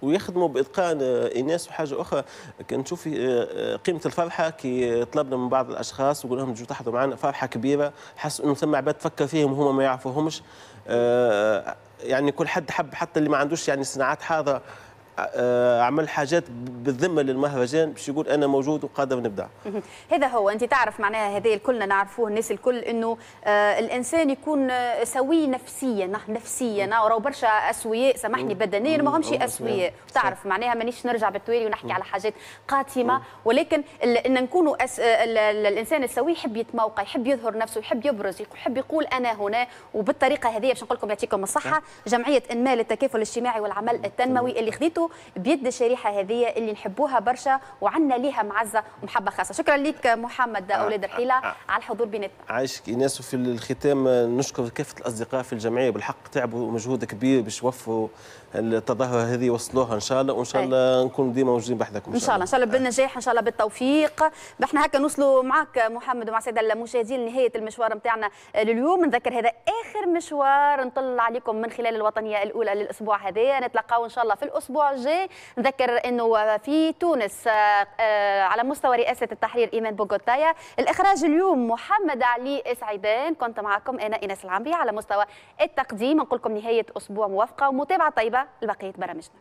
ويخدموا باتقان ايناس. وحاجه اخرى كنشوف قيمة الفرحة كي طلبنا من بعض الاشخاص وقلنا لهم تجوا تحضروا معنا، فرحه كبيرة، حسوا انه ثم عباد تفكر فيهم وهما ما يعرفوهمش. يعني كل حد حب، حتى اللي ما عندوش يعني صناعات حاضره عمل حاجات بالذمه للمهرجان باش يقول انا موجود وقادر نبدع. هذا هو، انت تعرف معناها هذا الكلنا نعرفوه الناس الكل، انه آه الانسان يكون سوي نفسيا، نفسيا راهو برشا اسوياء سامحني بدنيا ما همش اسوياء، تعرف معناها مانيش نرجع بالتوالي ونحكي على حاجات قاتمه، ولكن ان نكونوا أس... ال... ال... الانسان السوي يحب يتموقع، يحب يظهر نفسه، يحب يبرز، يحب يقول انا هنا. وبالطريقه هذه باش نقول لكم يعطيكم الصحة جمعية انماء للتكافل الاجتماعي والعمل التنموي اللي خذيته بيد الشريحة هذه اللي نحبوها برشا وعندنا ليها معزة ومحبه خاصة. شكرا لك محمد اولاد الحيلة على الحضور بيناتنا. عايشك ايناس. وفي الختام نشكر كافة الاصدقاء في الجمعية، بالحق تعبوا مجهود كبير باش وفروا التظاهرة هذه وصلوها ان شاء الله، وان شاء الله نكون ديما موجودين بحذاكم ان شاء الله. ان شاء الله بالنجاح، ان شاء الله بالتوفيق. احنا هكا نوصلوا معك محمد ومع السادة المشاهدين لنهاية المشوار نتاعنا لليوم. نذكر هذا اخر مشوار نطل عليكم من خلال الوطنية الاولى للاسبوع هذا، نتلاقاو ان شاء الله في الاسبوع الجاي. نذكر انه في تونس على مستوى رئاسة التحرير ايمان بوغوتايا، الاخراج اليوم محمد علي سعيدان، كنت معكم انا ايناس العمري على مستوى التقديم. نقول لكم نهاية اسبوع موفقة ومتابعة طيبة لبقية برامجنا.